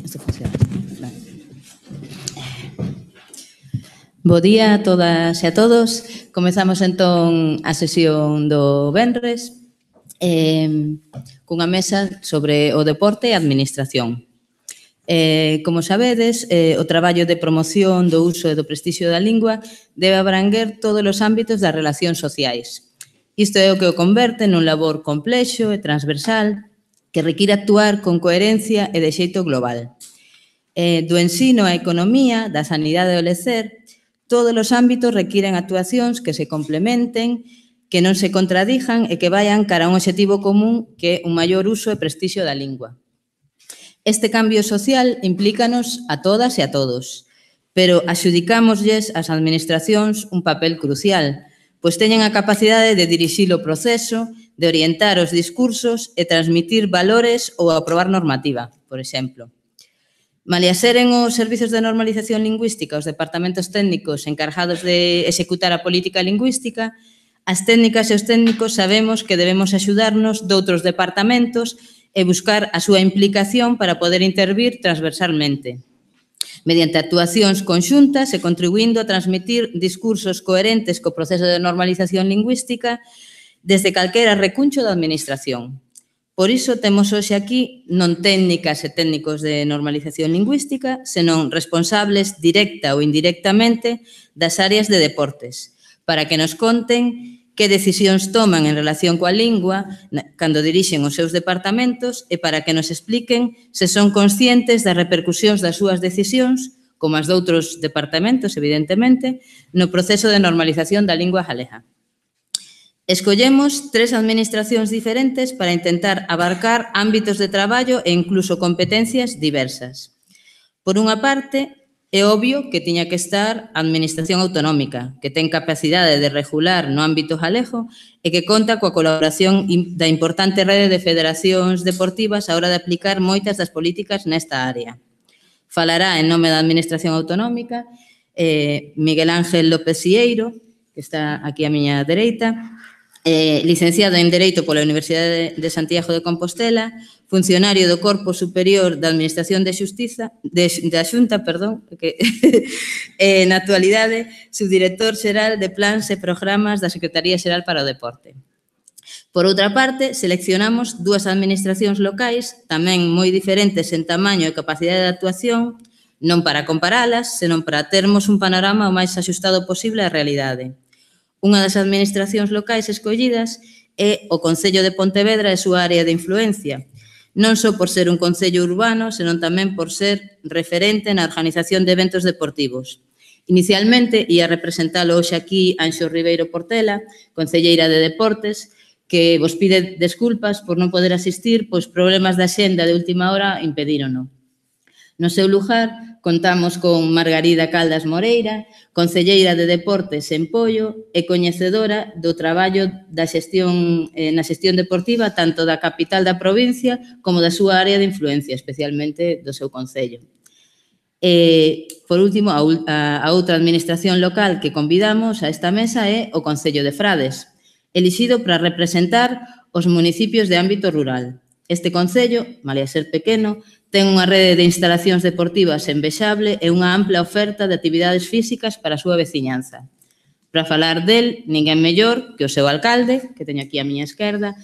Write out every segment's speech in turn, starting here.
Isto funciona. Bo día a todas e a todos. Comezamos entón a sesión do venres cunha mesa sobre o deporte e a administración. Como sabedes, o traballo de promoción do uso e do prestixio da lingua debe abranguer todos os ámbitos das relacións sociais. Isto é o que o converte nun labor complexo e transversal que require actuar con coherencia e de xeito global. Do ensino á economía, da sanidade ao lecer, todos os ámbitos requiren actuacións que se complementen, que non se contradijan e que vayan cara a un obxectivo común que é un maior uso e prestixio da lingua. Este cambio social implícanos a todas e a todos, pero axudicámoslles ás administracións un papel crucial, pois teñen a capacidade de dirixir o proceso, de orientar os discursos e transmitir valores ou aprobar normativa, por exemplo. Malia seren os servizos de normalización lingüística os departamentos técnicos encargados de executar a política lingüística, as técnicas e os técnicos sabemos que debemos axudarnos doutros departamentos e buscar a súa implicación para poder intervir transversalmente, mediante actuacións conxuntas e contribuindo a transmitir discursos coherentes co proceso de normalización lingüística desde calquera recuncho da administración. Por iso temos hoxe aquí non técnicas e técnicos de normalización lingüística, senón responsables directa ou indirectamente das áreas de deportes, para que nos conten que decisións toman en relación coa lingua cando dirixen os seus departamentos e para que nos expliquen se son conscientes das repercusións das súas decisións, como as doutros departamentos, evidentemente, no proceso de normalización da lingua galega. Escollemos 3 administracións diferentes para intentar abarcar ámbitos de traballo e incluso competencias diversas. Por unha parte, é obvio que tiña que estar a Administración Autonómica, que ten capacidade de regular no ámbito galego e que conta coa colaboración da importante rede de federacións deportivas á hora de aplicar moitas das políticas nesta área. Falará en nome da Administración Autonómica Miguel Ángel López Sieiro, que está aquí á miña dereita, licenciado en Dereito pola Universidade de Santiago de Compostela, funcionario do Corpo Superior da Administración de Xustiza, da Xunta, na actualidade, subdirector xeral de Plans e Programas da Secretaría Xeral para o Deporte. Por outra parte, seleccionamos 2 administracións locais, tamén moi diferentes en tamaño e capacidade de actuación, non para comparalas, senón para termos un panorama o máis axustado posible á realidade. Unha das administracións locais escollidas é o Concello de Pontevedra e a súa área de influencia, non só por ser un concello urbano, senón tamén por ser referente na organización de eventos deportivos. Inicialmente, ia representalo hoxe aquí Anxo Ribeiro Portela, concelleira de Deportes, que vos pide desculpas por non poder asistir, pois problemas da xenda de última hora impedírono. No seu lugar, contamos con Margarida Caldas Moreira, concelleira de Deportes en Poio e coñecedora do traballo da xestión na xestión deportiva tanto da capital da provincia como da súa área de influencia, especialmente do seu concello. Por último, a outra administración local que convidamos a esta mesa é o Concello de Frades, elixido para representar os municipios de ámbito rural. Este concello, malia ser pequeno, ten unha rede de instalacións deportivas envexable e unha ampla oferta de actividades físicas para a súa veciñanza. Para falar del, ninguén mellor que o seu alcalde, que teño aquí á miña esquerda,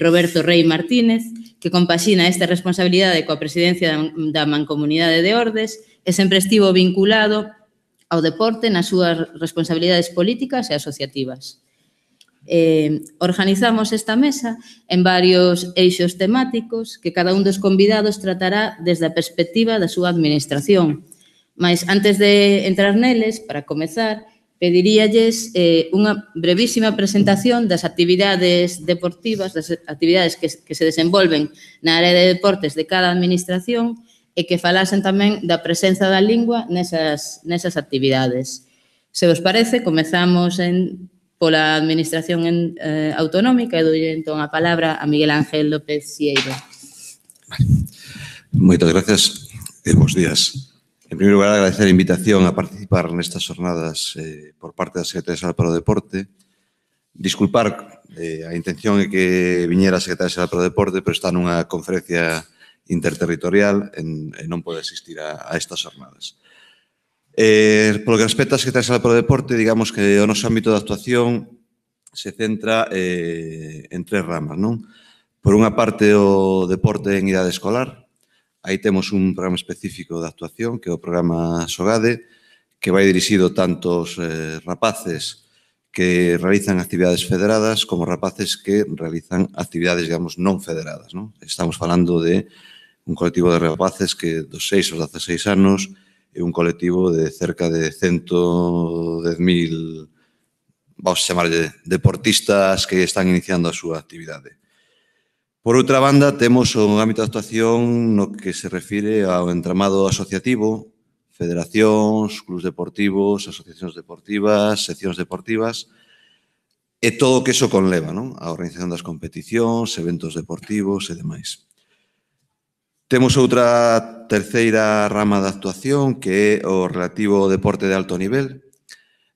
Roberto Rei Martínez, que compaxina esta responsabilidade coa presidencia da Mancomunidade de Ordes e sempre estivo vinculado ao deporte nas súas responsabilidades políticas e asociativas. Organizamos esta mesa en varios eixos temáticos que cada un dos convidados tratará desde a perspectiva da súa administración. Mas antes de entrar neles, para comezar, pediríalles unha brevísima presentación das actividades deportivas, das actividades que se desenvolven na área de deportes de cada administración e que falasen tamén da presenza da lingua nesas actividades. Se vos parece, comezamos pola Administración Autonómica e doulle entón a palabra a Miguel Ángel López Sieiro. Moitas gracias e bons días. En primeiro lugar, agradecer a invitación a participar nestas jornadas por parte da Secretaría Xeral para o Deporte Disculpar, a intención é que viñera a Secretaria Xeral para o Deporte, pero está nunha conferencia interterritorial e non pode asistir a estas jornadas. Polo que respecta a Secretaria Xeral para o Deporte, digamos que o noso ámbito de actuación se centra en tres ramas, non? Por unha parte, o deporte en idade escolar. Aí temos un programa específico de actuación, que é o programa SOGADE, que vai dirixido tanto aos rapaces que realizan actividades federadas como rapaces que realizan actividades, digamos, non federadas, non? Estamos falando de un colectivo de rapaces que dos 6 aos 16 anos é un colectivo de cerca de 110.000, vamos a chamarlle, deportistas que están iniciando a súa actividade. Por outra banda, temos un ámbito de actuación no que se refire ao entramado asociativo, federacións, clubs deportivos, asociacións deportivas, seccións deportivas, e todo o que iso conleva, non? A organización das competicións, eventos deportivos e demais. Temos outra terceira rama de actuación que é o relativo ao deporte de alto nivel,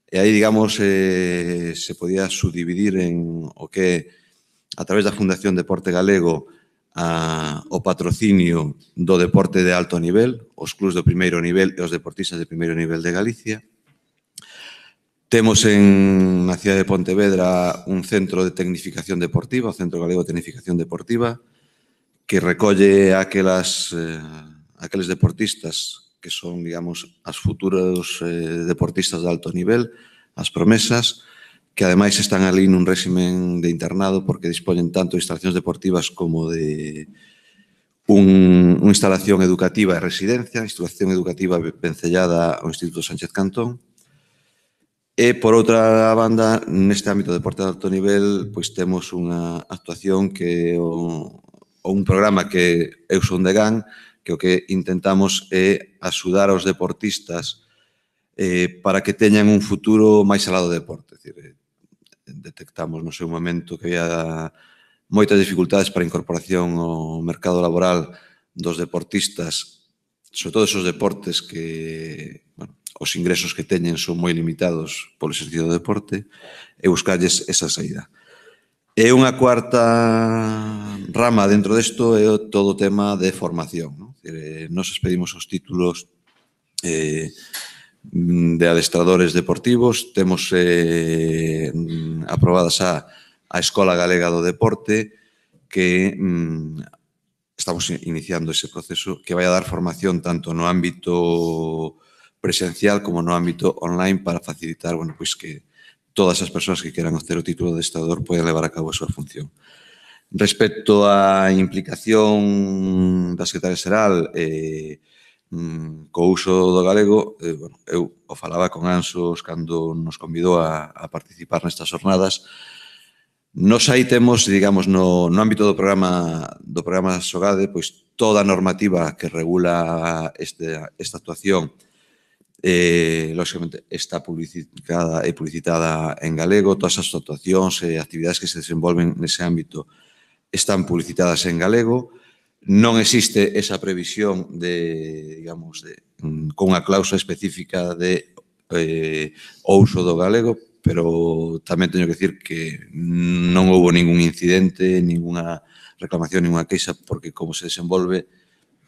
e aí, digamos, se podía subdividir en o que é, a través da Fundación Deporte Galego, o patrocinio do deporte de alto nivel, os clubs do primeiro nivel e os deportistas de primeiro nivel de Galicia. Temos na cidade de Pontevedra un centro de tecnificación deportiva, o Centro Galego de Tecnificación Deportiva, que recolle aqueles deportistas que son, digamos, as futuros deportistas de alto nivel, as promesas, que ademais están ali nun réximen de internado porque dispoñen tanto de instalacións deportivas como de unha instalación educativa e residencia, instalación educativa vencellada ao Instituto Sánchez Cantón. E, por outra banda, neste ámbito de deporte de alto nivel, pois temos unha actuación que é un programa que eu son de GAN, que o que intentamos é axudar aos deportistas para que teñan un futuro máis alá do deporte. É dicir, detectamos no seu momento que había moitas dificultades para a incorporación ao mercado laboral dos deportistas, sobre todo esos deportes que, bueno, os ingresos que teñen son moi limitados polo exercicio do deporte, e buscarlles esa saída. E unha cuarta rama dentro desto é todo o tema de formación, non? Nos expedimos os títulos de adestradores deportivos, temos aprobadas a Escola Galega do Deporte, que estamos iniciando ese proceso que vai a dar formación tanto no ámbito presencial como no ámbito online para facilitar, bueno, pois que todas as persoas que queran obter o título de adestrador poden levar a cabo a súa función. Respecto á implicación da Secretaria Xeral co uso do galego, eu o falaba con Anxos cando nos convidou a participar nestas jornadas. Nos aí temos, digamos, no ámbito do programa SOGADE, pois toda a normativa que regula esta actuación, lógicamente, está publicada e publicitada en galego. Todas as actuacións e actividades que se desenvolven nese ámbito están publicitadas en galego. Non existe esa previsión de, digamos, con unha cláusula específica de o uso do galego, pero tamén teño que dicir que non houve ningún incidente, ninguna reclamación, ninguna queixa, porque como se desenvolve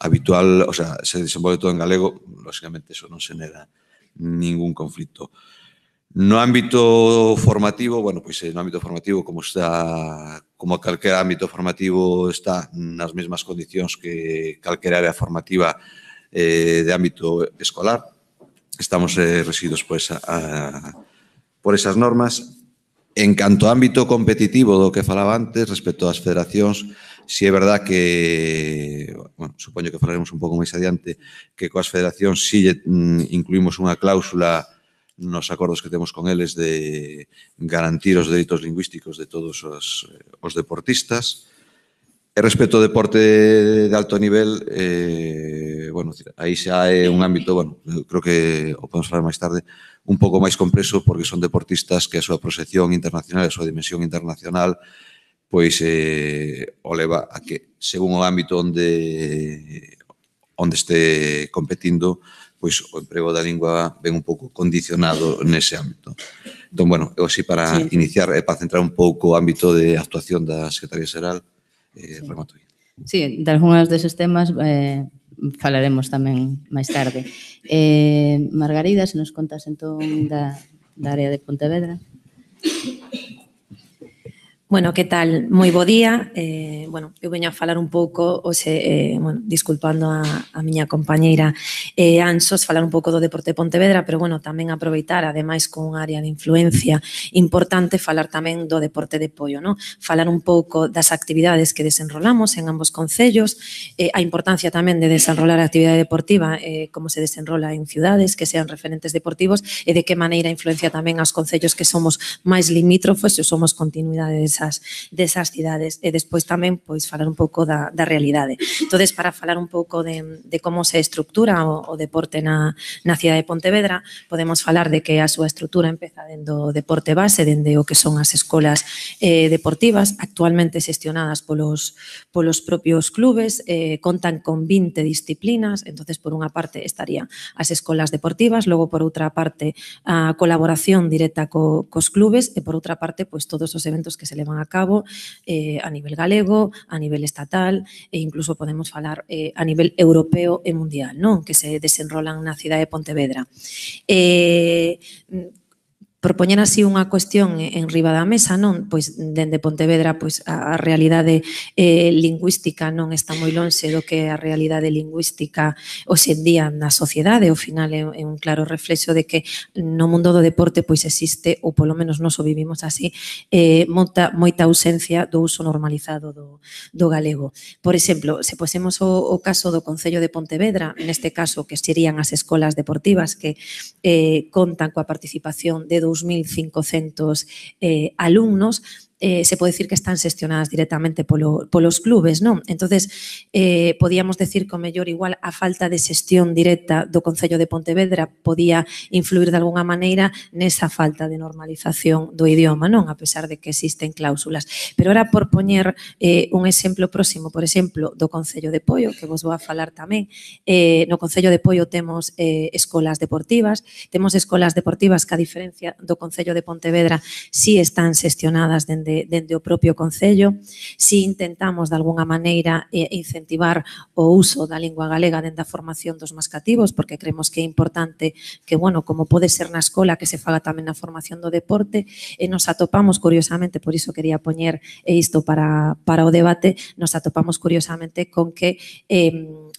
habitual, o sea, se desenvolve todo en galego, lógicamente eso non xenera ningún conflito. No ámbito formativo, bueno, pois no ámbito formativo, como calquer ámbito formativo está nas mesmas condicións que calquer área formativa de ámbito escolar. Estamos rexidos por esas normas. En canto ao ámbito competitivo do que falaba antes, respecto ás federacións, si é verdad que, bueno, supoño que falaremos un pouco máis adiante, que coas federacións si incluímos unha cláusula nos acordos que temos con eles de garantir os dereitos lingüísticos de todos os deportistas. E respecto ao deporte de alto nivel, bueno, aí xa é un ámbito, bueno, creo que o podemos falar máis tarde, un pouco máis complexo, porque son deportistas que a súa proxección internacional, a súa dimensión internacional, pois o leva a que, según o ámbito onde este competindo, pois o emprego da lingua ven un pouco condicionado nese ámbito. Entón, bueno, eu así para iniciar e para centrar un pouco o ámbito de actuación da Secretaría Xeral, remato aí. Sí, de algúns deses temas falaremos tamén máis tarde. Margarida, se nos contas entón da área de Pontevedra. Bueno, que tal? Moi bo día. Bueno, eu veño a falar un pouco, bueno, disculpando a miña compañeira Anxos, falar un pouco do deporte de Pontevedra, pero bueno, tamén aproveitar, ademais con un área de influencia importante, falar tamén do deporte de Poio, non? Falar un pouco das actividades que desenrolamos en ambos concellos, a importancia tamén de desenrolar a actividade deportiva, como se desenrola en ciudades que sean referentes deportivos e de que maneira influencia tamén aos concellos que somos máis limítrofos e somos continuidade desas cidades e despois tamén pois falar un pouco da realidade. Entonces, para falar un pouco de como se estructura o deporte na cidade de Pontevedra, podemos falar de que a súa estrutura empeza dende o deporte base, dende o que son as escolas deportivas, actualmente xestionadas polos propios clubes, contan con 20 disciplinas, entonces por unha parte estarían as escolas deportivas, logo por outra parte a colaboración directa cos clubes e por outra parte pois todos os eventos que se levan a cabo a nivel galego, a nivel estatal e incluso podemos falar a nivel europeo e mundial, non? Que se desenrolan na cidade de Pontevedra. Propoñer así unha cuestión en riba da mesa, non? Pois dende Pontevedra pois a realidade lingüística non está moi lonxe do que a realidade lingüística hoxe en día na sociedade, ao final é un claro reflexo de que no mundo do deporte pois existe, ou polo menos nos o vivimos así, moita ausencia do uso normalizado do galego. Por exemplo, se posemos o caso do Concello de Pontevedra, neste caso que serían as escolas deportivas que contan coa participación de 2.500 alumnos, se pode decir que están xestionadas directamente polos clubes, non? Entonces, podíamos decir que o mellor igual a falta de xestión directa do Concello de Pontevedra podía influir de alguna maneira nesa falta de normalización do idioma, non? A pesar de que existen cláusulas. Pero ahora, por poñer un exemplo próximo, por exemplo, do Concello de Poio, que vos vou a falar tamén, no Concello de Poio temos escolas deportivas que a diferencia do Concello de Pontevedra si están xestionadas dende o propio Concello, si intentamos de alguna maneira incentivar o uso da lingua galega dentro da formación dos máis cativos, porque creemos que é importante que, bueno, como pode ser na escola, que se faga tamén na formación do deporte, e nos atopamos curiosamente, por iso quería poñer isto para o debate, nos atopamos curiosamente con que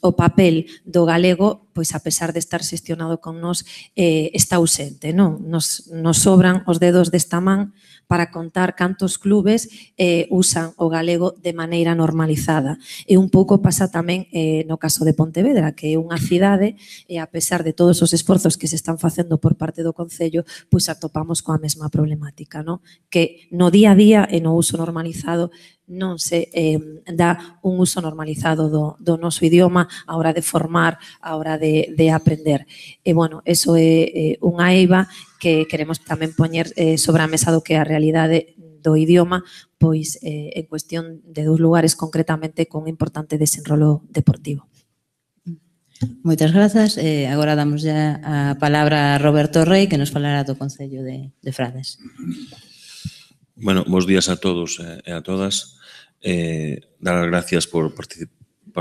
o papel do galego, pois a pesar de estar xestionado con nós, está ausente, non? Nos sobran os dedos desta man para contar cantos clubes usan o galego de maneira normalizada. E un pouco pasa tamén no caso de Pontevedra, que é unha cidade e a pesar de todos os esforzos que se están facendo por parte do Concello, pois atopamos coa mesma problemática, non? Que no día a día e no uso normalizado non se dá un uso normalizado do noso idioma a hora de formar, a hora de aprender. E, bueno, eso é unha eiva que queremos tamén poñer sobre a mesa do que é a realidade do idioma, pois en cuestión de 2 lugares concretamente con un importante desenrolo deportivo. Moitas grazas. Agora damos ya a palabra a Roberto Rey, que nos falará do Concello de Frades. Bueno, bons días a todos e a todas. Dar as gracias por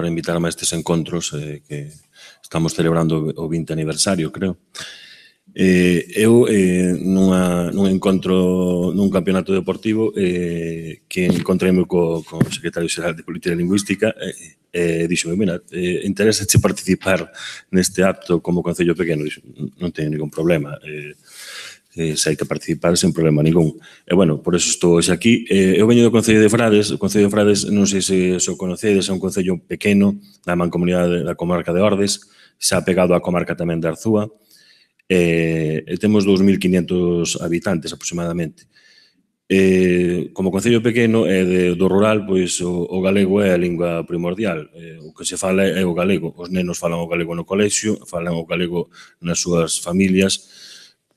invitarme a estes encontros que estamos celebrando o 20 aniversario, creo. Eu, nun encontro, nun campeonato deportivo, que encontreime co secretario xeral de Política Lingüística e dixome, mira, interesache participar neste acto como Concello Pequeno? Dixo, non teño ningún problema, se hai que participar sen problema ningún. E, bueno, por eso estou hoxe aquí. Eu veño do Concello de Frades. O Concello de Frades, non sei se o conocedes, é un concello pequeno da mancomunidade da comarca de Ordes, xa pegado á comarca tamén de Arzúa. Temos 2.500 habitantes aproximadamente. Como concello pequeno e do rural, pois o galego é a lingua primordial. O que se fala é o galego. Os nenos falan o galego no colexio, falan o galego nas súas familias.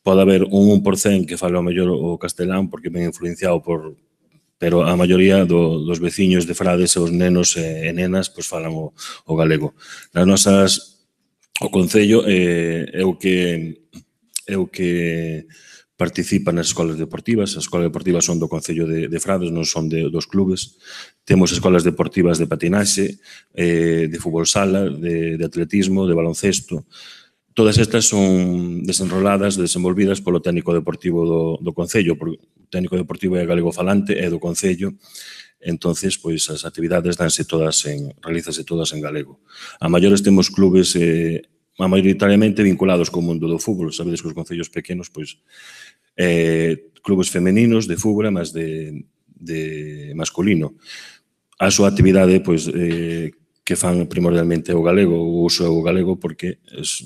Pode haber un 1% que fala o mellor o castelán porque ven influenciado pero a maioría dos veciños de Frades, os nenos e nenas, pois falan o galego. Nas nosas O Concello é o que participa nas escolas deportivas. As escolas deportivas son do Concello de Frades, non son dos clubes. Temos escolas deportivas de patinaxe, de fútbol sala, de atletismo, de baloncesto. Todas estas son desenroladas, desenvolvidas polo técnico deportivo do Concello. O técnico deportivo é galego falante, é do Concello. Entonces, pois, as actividades realízase todas en galego. A maiores temos clubes maioritariamente vinculados co mundo do fútbol. Sabedes que os concellos pequenos, pois, clubes femeninos de fútbol, mas de masculino. A súa actividade, pois, que fan primordialmente o galego, o uso é o galego, porque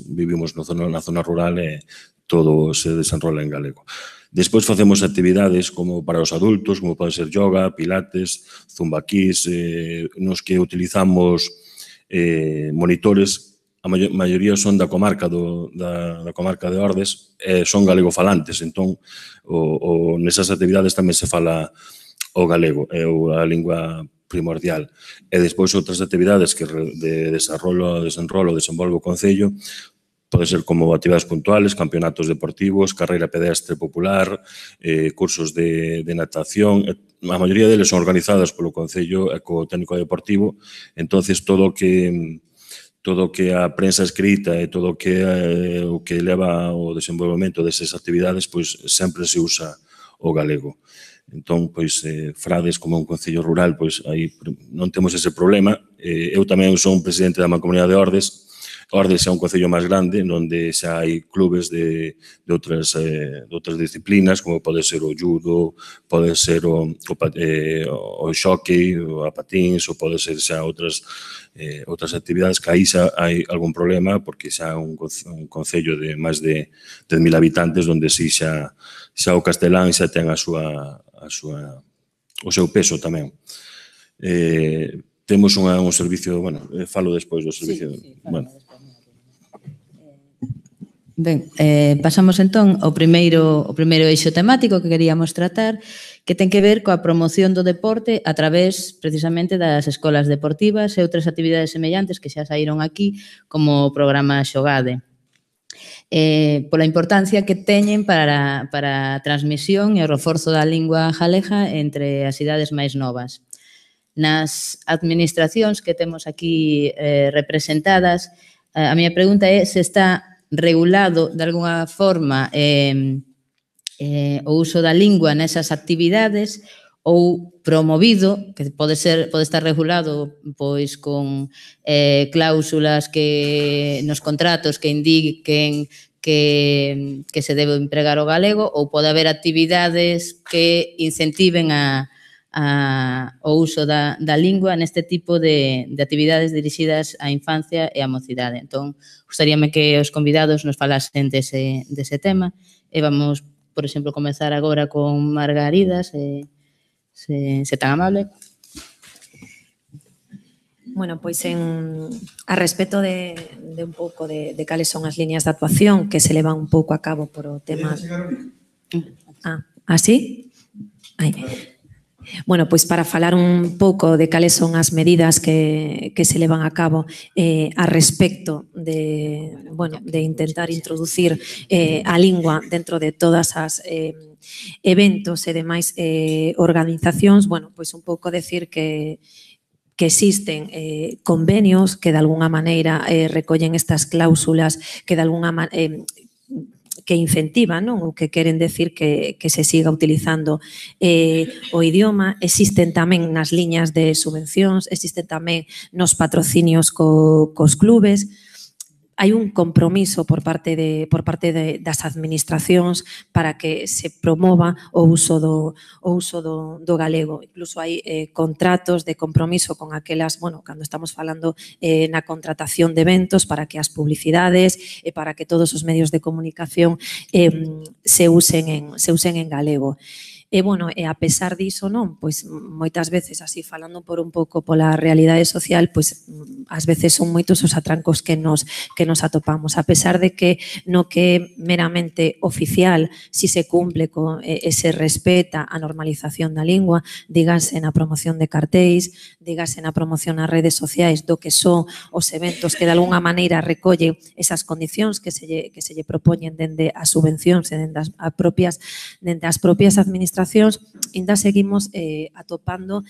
vivimos na zona rural e todo se desenrola en galego. Despois facemos actividades como para os adultos, como pode ser yoga, pilates, zumbaquís, nos que utilizamos monitores. A maioría son da comarca de Ordes, son galegofalantes, entón nesas actividades tamén se fala o galego, é a lingua primordial. E despois outras actividades que de desenrolo desenvolve o Concello, pode ser como actividades puntuales, campeonatos deportivos, carreira pedestre popular, cursos de natación. A maioría deles son organizadas polo Concello e co técnico deportivo. Entonces, todo o que a prensa escrita e todo o que leva ao desenvolvemento desas actividades, pois sempre se usa o galego. Entón, pois, Frades, como un concello rural, pois aí non temos ese problema. Eu tamén son presidente da Mancomunidade de Ordes. Ordes é un concello máis grande, onde xa hai clubes de outras disciplinas, como pode ser o judo, pode ser o xockey, a patins, ou pode ser xa outras actividades que aí xa hai algún problema, porque xa é un concello de máis de 10.000 habitantes, onde si xa o castelán xa ten o seu peso tamén. Temos un servicio, bueno, falo despois do servicio. Ben, pasamos entón ao primeiro eixo temático que queríamos tratar, que ten que ver coa promoción do deporte a través precisamente das escolas deportivas e outras actividades semellantes que xa saíron aquí, como o programa Xogade. Pola importancia que teñen para a transmisión e o reforzo da lingua galega entre as idades máis novas. Nas administracións que temos aquí representadas, a miña pregunta é se está regulado de alguna forma o uso da lingua nesas actividades ou promovido, que pode estar regulado pois con cláusulas que nos contratos que indiquen que se debe empregar o galego, ou pode haber actividades que incentiven o uso da lingua neste tipo de actividades dirixidas á infancia e á mocidade. Entón, gustaríame que os convidados nos falasen dese tema e vamos, por exemplo, comezar agora con Margarida, se tan amable. Bueno, pois a respecto de un pouco de cales son as liñas de actuación que se levan un pouco a cabo por o tema... ¿Así? Bueno, pois para falar un pouco de cales son as medidas que se levan a cabo a respecto de intentar introducir a lingua dentro de todas as eventos e demais organizacións, bueno, pois un pouco decir que existen convenios que de alguna maneira recollen estas cláusulas que de alguna maneira que incentivan, non? Ou que queren decir que se siga utilizando o idioma. Existen tamén nas liñas de subvencións, existen tamén nos patrocinios cos clubes. Hai un compromiso por parte das administracións para que se promova o uso do galego. Incluso hai contratos de compromiso con aquelas, bueno, cando estamos falando na contratación de eventos para que as publicidades e para que todos os medios de comunicación se usen en galego. E, bueno, e a pesar diso, non, pois moitas veces, así falando por un pouco pola realidade social, pois ás veces son moitos os atrancos que nos atopamos. A pesar de que no que é meramente oficial, si se cumple e se respeta a normalización da lingua, dígase na promoción de cartéis, dígase na promoción nas redes sociais do que son os eventos que de alguna maneira recolle esas condicións que se lle propoñen dende as subvencións e dende as propias administracións, ainda seguimos atopando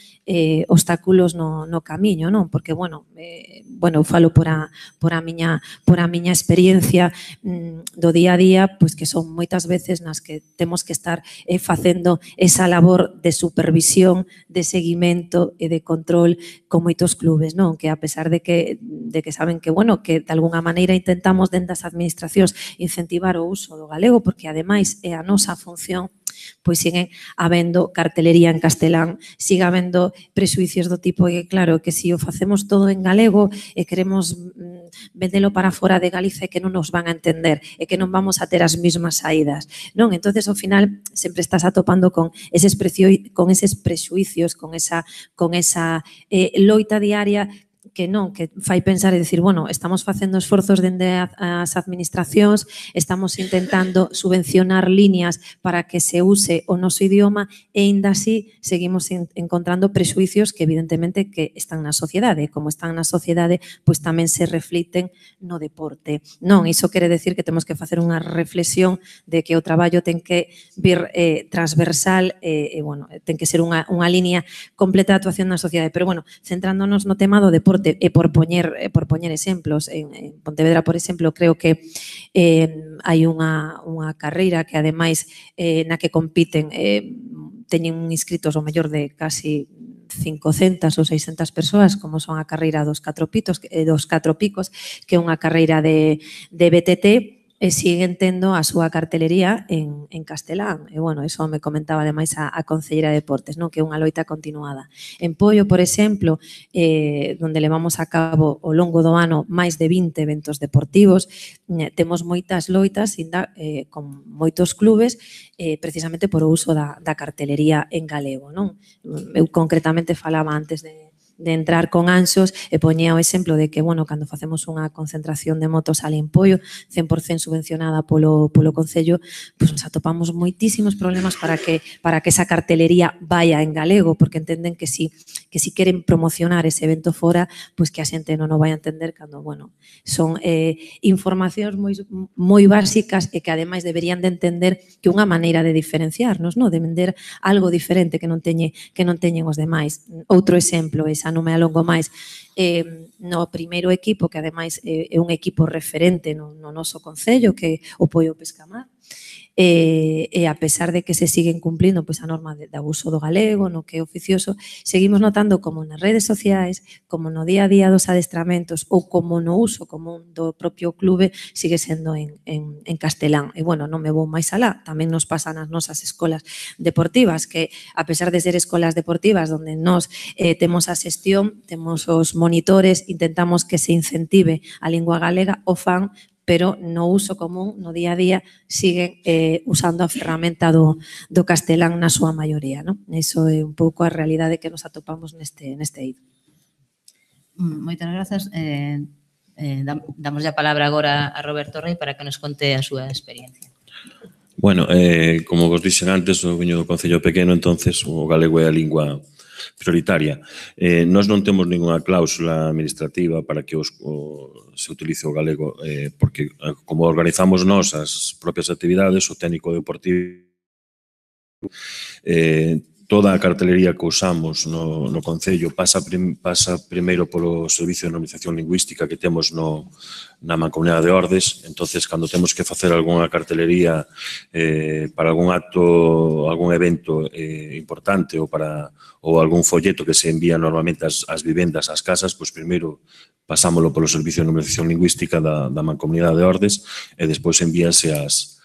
obstáculos no camiño, non? Porque, bueno, eu falo por a miña experiencia do día a día, pois que son moitas veces nas que temos que estar facendo esa labor de supervisión, de seguimento e de control con moitos clubes, non? Que a pesar de que saben que, bueno, que de alguna maneira intentamos dentro das administracións incentivar o uso do galego, porque ademais é a nosa función, pois siguen habendo cartelería en castelán, sigue habendo prexuicios do tipo que, claro, que se o facemos todo en galego e queremos vendelo para fora de Galicia e que non nos van a entender e que non vamos a ter as mesmas saídas, non? Entonces, ao final, sempre estás atopando con eses prexuicios, con esa loita diaria que non, que fai pensar e dicir, bueno, estamos facendo esforzos dende as administracións, estamos intentando subvencionar líneas para que se use o noso idioma e ainda así seguimos encontrando prexuicios que evidentemente que están na sociedade, como están na sociedade, pois tamén se refliten no deporte. Non, iso quere decir que temos que facer unha reflexión de que o traballo ten que vir transversal e, bueno, ten que ser unha línea completa de actuación na sociedade. Pero, bueno, centrándonos no tema do deporte, e por poñer exemplos, en Pontevedra, por exemplo, creo que hai unha carreira que, ademais, na que compiten, teñen inscritos o mellor de casi 500 ou 600 persoas, como son a carreira dos 4 picos, que é unha carreira de BTT, e siguen tendo a súa cartelería en castelán. E, bueno, eso me comentaba ademais a Concelleira de Deportes, non? Que é unha loita continuada. En Poio, por exemplo, onde levamos a cabo ao longo do ano máis de 20 eventos deportivos, temos moitas loitas con moitos clubes precisamente por o uso da cartelería en galego, non? Eu concretamente falaba antes de entrar con Anxos e poñía o exemplo de que, bueno, cando facemos unha concentración de motos ali en Poio, 100% subvencionada polo Concello, pois nos atopamos moitísimos problemas para que esa cartelería vaya en galego, porque entenden que si queren promocionar ese evento fora, pois que a xente non o vai a entender cando, bueno, son informacións moi básicas e que ademais deberían de entender que unha maneira de diferenciarnos, de vender algo diferente que non teñen os demais. Outro exemplo, xa non me alongo máis, no primeiro equipo, que ademais é un equipo referente no noso concello, que é o Poio Pescamar, e a pesar de que se siguen cumplindo pois a norma de uso do galego, no que é oficioso, seguimos notando como nas redes sociais, como no día a día dos adestramentos ou como no uso común do propio clube sigue sendo en castelán. E, bueno, non me vou máis alá, tamén nos pasa nas nosas escolas deportivas, que a pesar de ser escolas deportivas onde nós temos a xestión, temos os monitores, intentamos que se incentive a lingua galega, o fan, pero no uso común, no día a día, siguen usando a ferramenta do castelán na súa maioría, non? Iso é un pouco a realidade que nos atopamos neste eido. Moitas grazas. Damos a palabra agora a Roberto Rei para que nos conte a súa experiencia. Bueno, como vos dixen antes, o veño do Concello Pequeno, entonces o galego é a lingua prioritaria. Nós non temos ninguna cláusula administrativa para que se utilice o galego, porque como organizamos nós as propias actividades, o técnico deportivo, toda a cartelería que usamos no Concello pasa primeiro polo Servicio de Normalización Lingüística que temos na Mancomunidade de Ordes. Entonces, cando temos que facer algunha cartelería para algún acto, algún evento importante ou algún folleto que se envía normalmente ás vivendas, ás casas, pois primeiro pasámolo polo Servicio de Normalización Lingüística da Mancomunidade de Ordes e despois envíase ás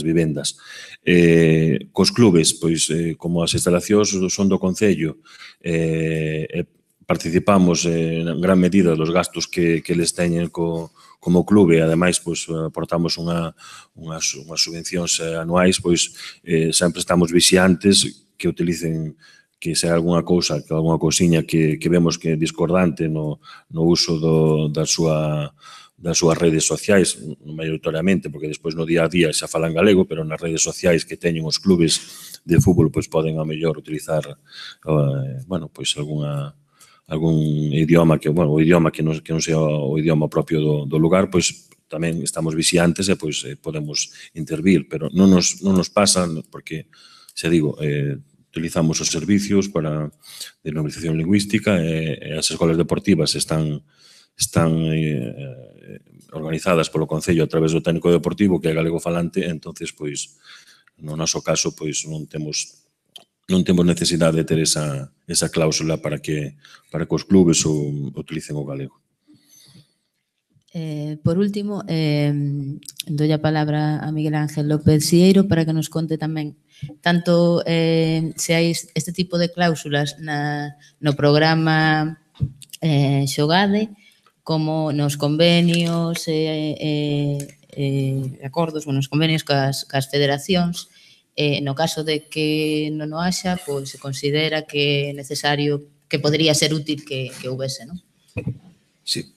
vivendas. Cos clubes, pois, como as instalacións son do Concello, participamos en gran medida dos gastos que eles teñen co como clube, ademais, pois, aportamos unhas subvencións anuais, pois, sempre estamos vixiantes que utilicen, que se hai algunha cousa, que algunha cousiña que vemos que é discordante no uso das súas redes sociais, maioritariamente, porque despois no día a día xa falan galego, pero nas redes sociais que teñen os clubes de fútbol, pois poden a mellor utilizar, bueno, pois algún idioma que, bueno, o idioma que non sea o idioma propio do lugar, pois tamén estamos vixiantes e pois podemos intervir, pero non nos pasa porque, xa digo, utilizamos os servicios para de normalización lingüística e as escolas deportivas están organizadas polo Concello a través do técnico deportivo que é galego falante, entonces, pois, no noso caso, pois, non temos necesidade de ter esa cláusula para que os clubes utilicen o galego. Por último, doy a palabra a Miguel Ángel López Sieiro para que nos conte tamén tanto se hai este tipo de cláusulas no programa Xogade como nos convenios acordos, nos convenios cas federacións. No caso de que non o haxa, pois se considera que é necesario, que podría ser útil que houvese, non? Sí.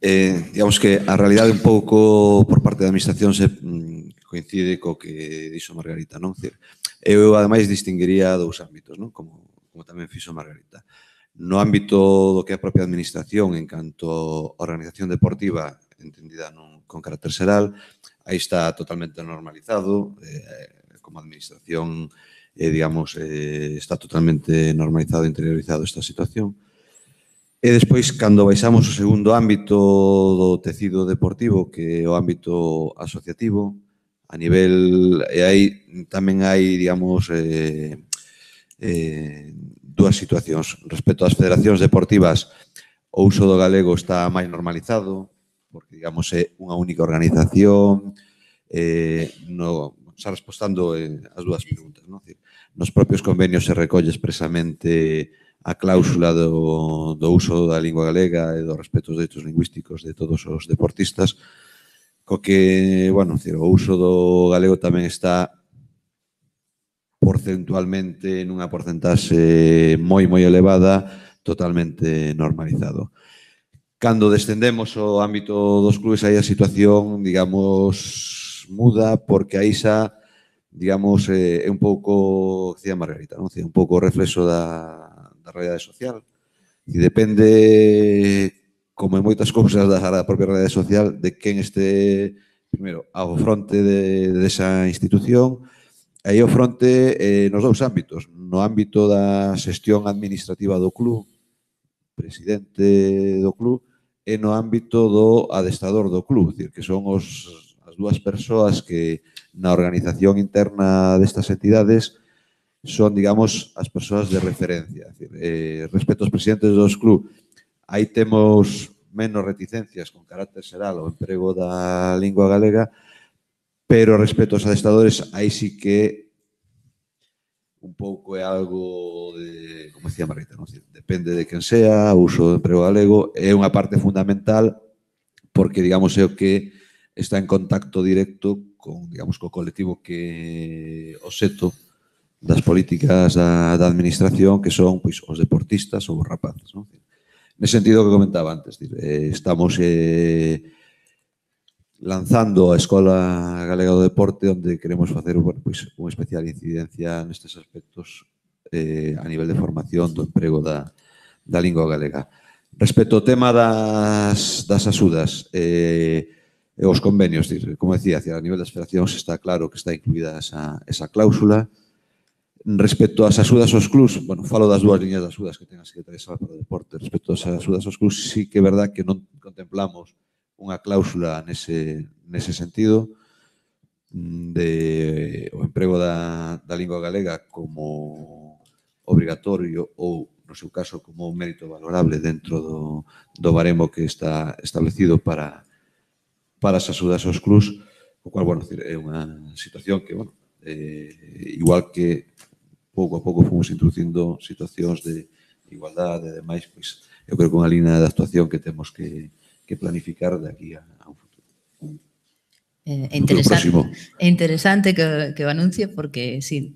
Digamos que a realidade un pouco por parte da administración se coincide co que dixo Margarita, non? Eu, ademais, distinguiría dous ámbitos, non? Como tamén fixo Margarita. No ámbito do que é a propia administración en canto a organización deportiva entendida con carácter xeral, aí está totalmente normalizado, como administración, digamos, está totalmente normalizado e interiorizado esta situación. E despois, cando baixamos o segundo ámbito do tecido deportivo, que é o ámbito asociativo, a nivel, e aí tamén hai, digamos, dúas situacións. Respecto ás federacións deportivas, o uso do galego está máis normalizado, porque, digamos, é unha única organización, xa respostando as dúas preguntas, non? Nos propios convenios se recolle expresamente a cláusula do uso da lingua galega e do respeto aos dereitos lingüísticos de todos os deportistas, co que, bueno, o uso do galego tamén está porcentualmente nunha porcentaxe moi elevada, totalmente normalizado. Cando descendemos ao ámbito dos clubes, aí a situación, digamos, muda, porque aí xa, digamos, é un pouco, decía Margarita, non? Un pouco o reflexo da realidade social. E depende, como en moitas cousas da propia realidade social, de quen este, primeiro, ao fronte desa institución, e aí ao fronte nos dous ámbitos. No ámbito da xestión administrativa do club, presidente do club, e no ámbito do adestrador do club, que son as dúas persoas que na organización interna destas entidades son, digamos, as persoas de referencia. Respecto aos presidentes dos club, aí temos menos reticencias con carácter xeral ao emprego da lingua galega, pero respecto aos adestradores, aí sí que un pouco é algo de, como decía Margarita, non? Depende de quen sea, o uso do emprego galego é unha parte fundamental porque, digamos, é o que está en contacto directo con, digamos, co colectivo que o seto das políticas da administración, que son, pois, os deportistas ou os rapaces, non? Nese sentido que comentaba antes, estamos lanzando a Escola Galega do Deporte, onde queremos facer, bueno, pois, unha especial incidencia nestes aspectos a nivel de formación do emprego da lingua galega. Respecto ao tema das axudas e os convenios, como decía, a nivel das federacións está claro que está incluída esa cláusula. Respecto ás axudas aos clubs, bueno, falo das dúas liñas de axudas que ten a Secretaría Xeral para o Deporte. Respecto ás axudas aos clubs, sí que é verdad que non contemplamos unha cláusula nese sentido de o emprego da lingua galega como obrigatorio ou, no seu caso, como un mérito valorable dentro do baremo que está establecido para as axudas aos clubs, o cual, bueno, é unha situación que, bueno, igual que pouco a pouco fomos introducindo situacións de igualdade e demais, pois eu creo que unha línea de actuación que temos que planificar de aquí a un futuro. É interesante que o anuncie porque, sí,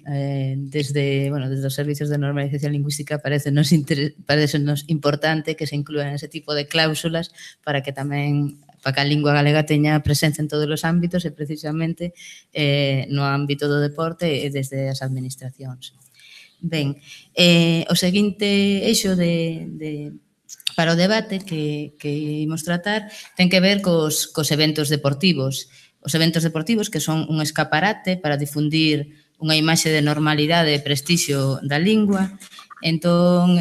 desde os servicios de normalización lingüística parecenos importante que se inclúan ese tipo de cláusulas para que tamén para que a lingua galega teña presencia en todos os ámbitos e precisamente no ámbito do deporte e desde as administracións. Ben, o seguinte eixo para o debate que imos tratar ten que ver cos eventos deportivos. Os eventos deportivos que son un escaparate para difundir unha imaxe de normalidade e prestixio da lingua. Entón,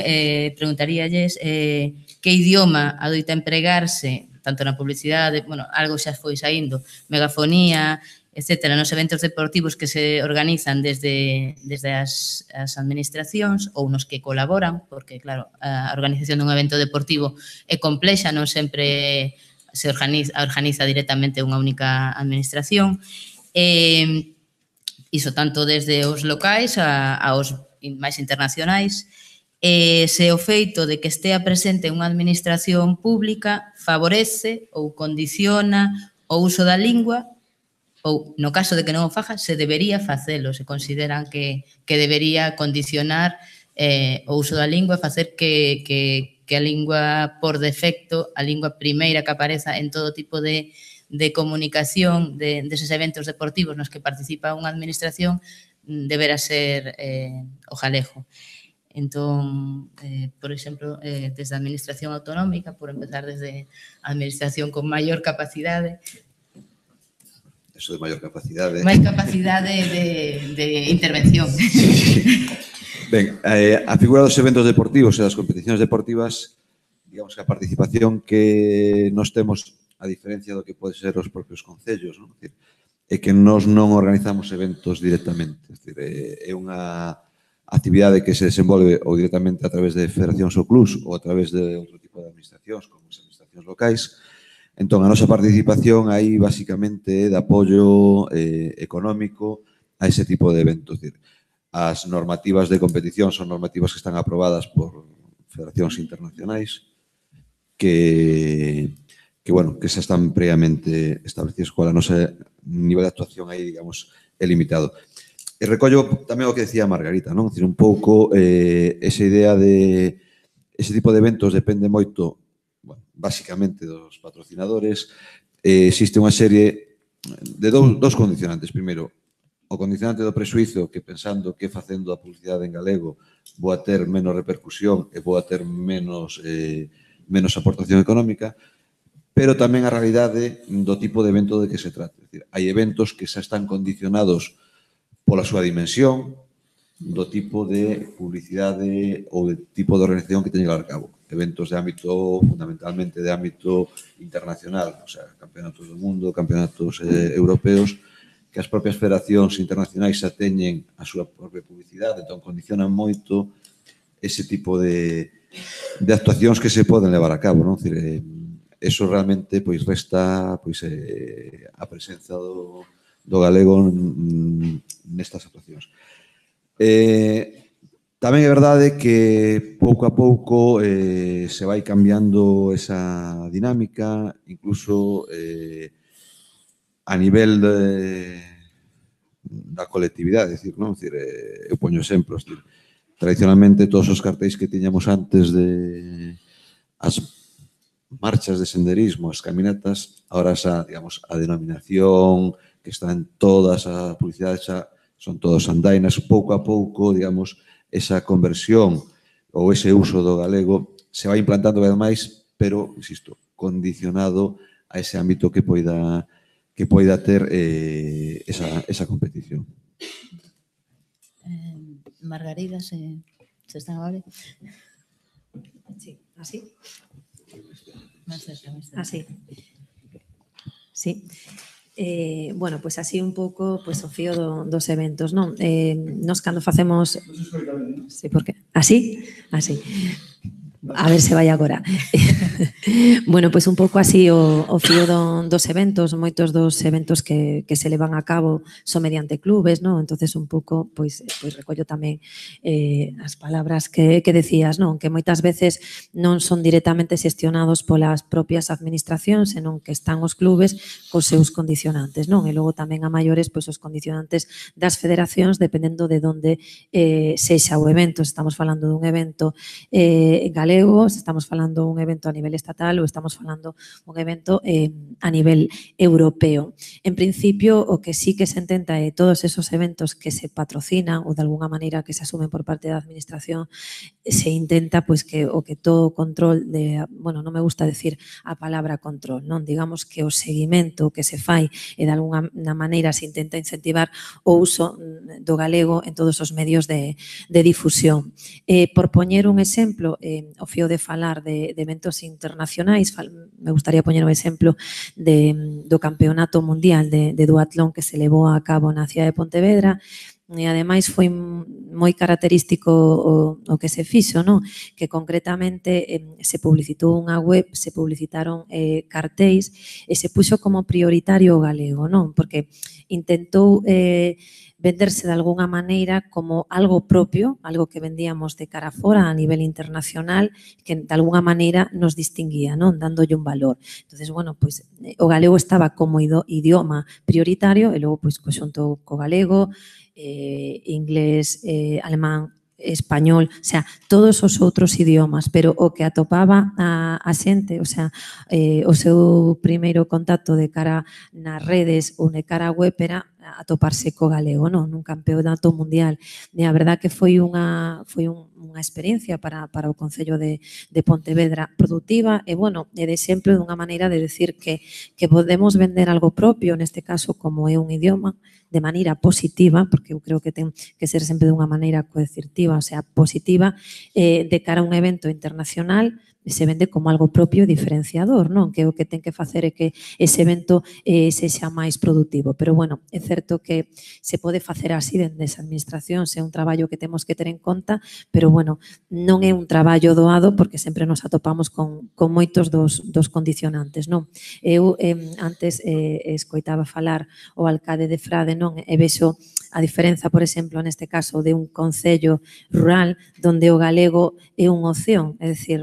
preguntaríalles que idioma adoita empregarse tanto na publicidade, algo xa foi saindo, megafonía, etcétera, nos eventos deportivos que se organizan desde as administracións ou nos que colaboran, porque, claro, a organización dun evento deportivo é complexa, non sempre se organiza directamente unha única administración. Iso tanto desde os locais aos máis internacionais. Se o feito de que estea presente unha administración pública favorece ou condiciona o uso da lingua ou, no caso de que non o faga, se debería facelo, se consideran que debería condicionar o uso da lingua e facer que a lingua por defecto, a lingua primeira que apareza en todo tipo de comunicación deses eventos deportivos nos que participa unha administración deberá ser o galego. Entón, por exemplo, desde a administración autonómica, por empezar desde a administración con maior capacidade. Eso de maior capacidade. Máis capacidade de intervención. Sí. Ben, a figura dos eventos deportivos e das competicións deportivas, digamos que a participación que nos temos, a diferencia do que pode ser os propios concellos, non? É que nós non organizamos eventos directamente. É unha actividade que se desenvolve ou directamente a través de federacións ou clubs ou a través de outro tipo de administracións, como as administracións locais. Entón, a nosa participación aí, basicamente, é de apoio económico a ese tipo de eventos. As normativas de competición son normativas que están aprobadas por federacións internacionais que xa están previamente establecidas, cual a nosa nivel de actuación aí, digamos, é limitado. E recollo tamén o que decía Margarita, non? Un pouco esa idea de ese tipo de eventos depende moito, basicamente, dos patrocinadores. Existe unha serie de dous condicionantes. Primeiro, o condicionante do prexuízo que pensando que facendo a publicidade en galego vou a ter menos repercusión e vou a ter menos aportación económica, pero tamén a realidade do tipo de evento de que se trata. Hai eventos que xa están condicionados pola súa dimensión, do tipo de publicidade ou de tipo de organización que teñen que levar a cabo. Eventos de ámbito, fundamentalmente de ámbito internacional, o sea, campeonatos do mundo, campeonatos europeos, que as propias federacións internacionais xa teñen a súa propia publicidade, entón condicionan moito ese tipo de actuacións que se poden levar a cabo, non? Eso realmente resta a presenza do galego nestas actuacións. Tamén é verdade que pouco a pouco se vai cambiando esa dinámica, incluso a nivel da colectividade, eu poño exemplos. Tradicionalmente, todos os cartéis que tiñamos antes de as marchas de senderismo, as caminatas, ahora xa, digamos, a denominación que está en todas as publicidades xa son todos andainas. Pouco a pouco, digamos, esa conversión ou ese uso do galego se vai implantando cada vez máis, pero, insisto, condicionado a ese ámbito que poida ter esa competición. Margarida, se están agora? Sí, así? Así. Sí. Bueno, pois así un pouco o fío dos eventos, non? Nos cando facemos... Sí, por que? Así? Así. A ver se vai agora. Bueno, pois un pouco así o fío dos eventos, moitos dos eventos que se levan a cabo son mediante clubes, non? Entonces un pouco, pois recollo tamén as palabras que decías, non? Que moitas veces non son directamente xestionados polas propias administracións, senón que están os clubes cos seus condicionantes, non? E logo tamén a maiores, pois os condicionantes das federacións dependendo de onde sexa o evento. Estamos falando dun evento galego, estamos falando un evento a nivel estatal ou estamos falando un evento a nivel europeo. En principio, o que sí que se intenta é todos esos eventos que se patrocinan ou de alguna maneira que se asumen por parte da administración, se intenta pois que o que todo control de, bueno, non me gusta decir a palabra control, non? Digamos que o seguimento que se fai e de alguna maneira se intenta incentivar o uso do galego en todos os medios de difusión. Por poñer un exemplo, o fío de falar de eventos internacionais, me gustaría poñer un exemplo do Campeonato Mundial de Duatlón que se levou a cabo na cidade de Pontevedra, e ademais foi moi característico o que se fixo, non? Que concretamente se publicitou unha web, se publicitaron cartéis e se puxo como prioritario o galego, non? Porque intentou venderse de alguna maneira como algo propio, algo que vendíamos de cara fora a nivel internacional, que de alguna maneira nos distinguía, non? Dándolle un valor. Entonces, bueno, pois o galego estaba como idioma prioritario e logo pois xunto co galego, inglés, alemán, español, o sea, todos os outros idiomas, pero o que atopaba a xente, o sea, o seu primeiro contacto de cara nas redes ou de cara a web era atoparse co galego, non? Nun campeonato mundial. E a verdad que foi unha experiencia para o Concello de Pontevedra produtiva e, bueno, de exemplo dunha maneira de decir que podemos vender algo propio, neste caso como é un idioma, de maneira positiva, porque eu creo que ten que ser sempre dunha maneira coercitiva, o sea, positiva, de cara a un evento internacional, se vende como algo propio e diferenciador, non? Que o que ten que facer é que ese evento sexa máis productivo. Pero, bueno, é certo que se pode facer así dende esa administración, é un traballo que temos que ter en conta, pero, bueno, non é un traballo doado porque sempre nos atopamos con moitos dos condicionantes, non? Eu antes escoitaba falar o alcalde de Frade, non? E vexo a diferenza, por exemplo, neste caso de un concello rural onde o galego é unha opción, é dicir,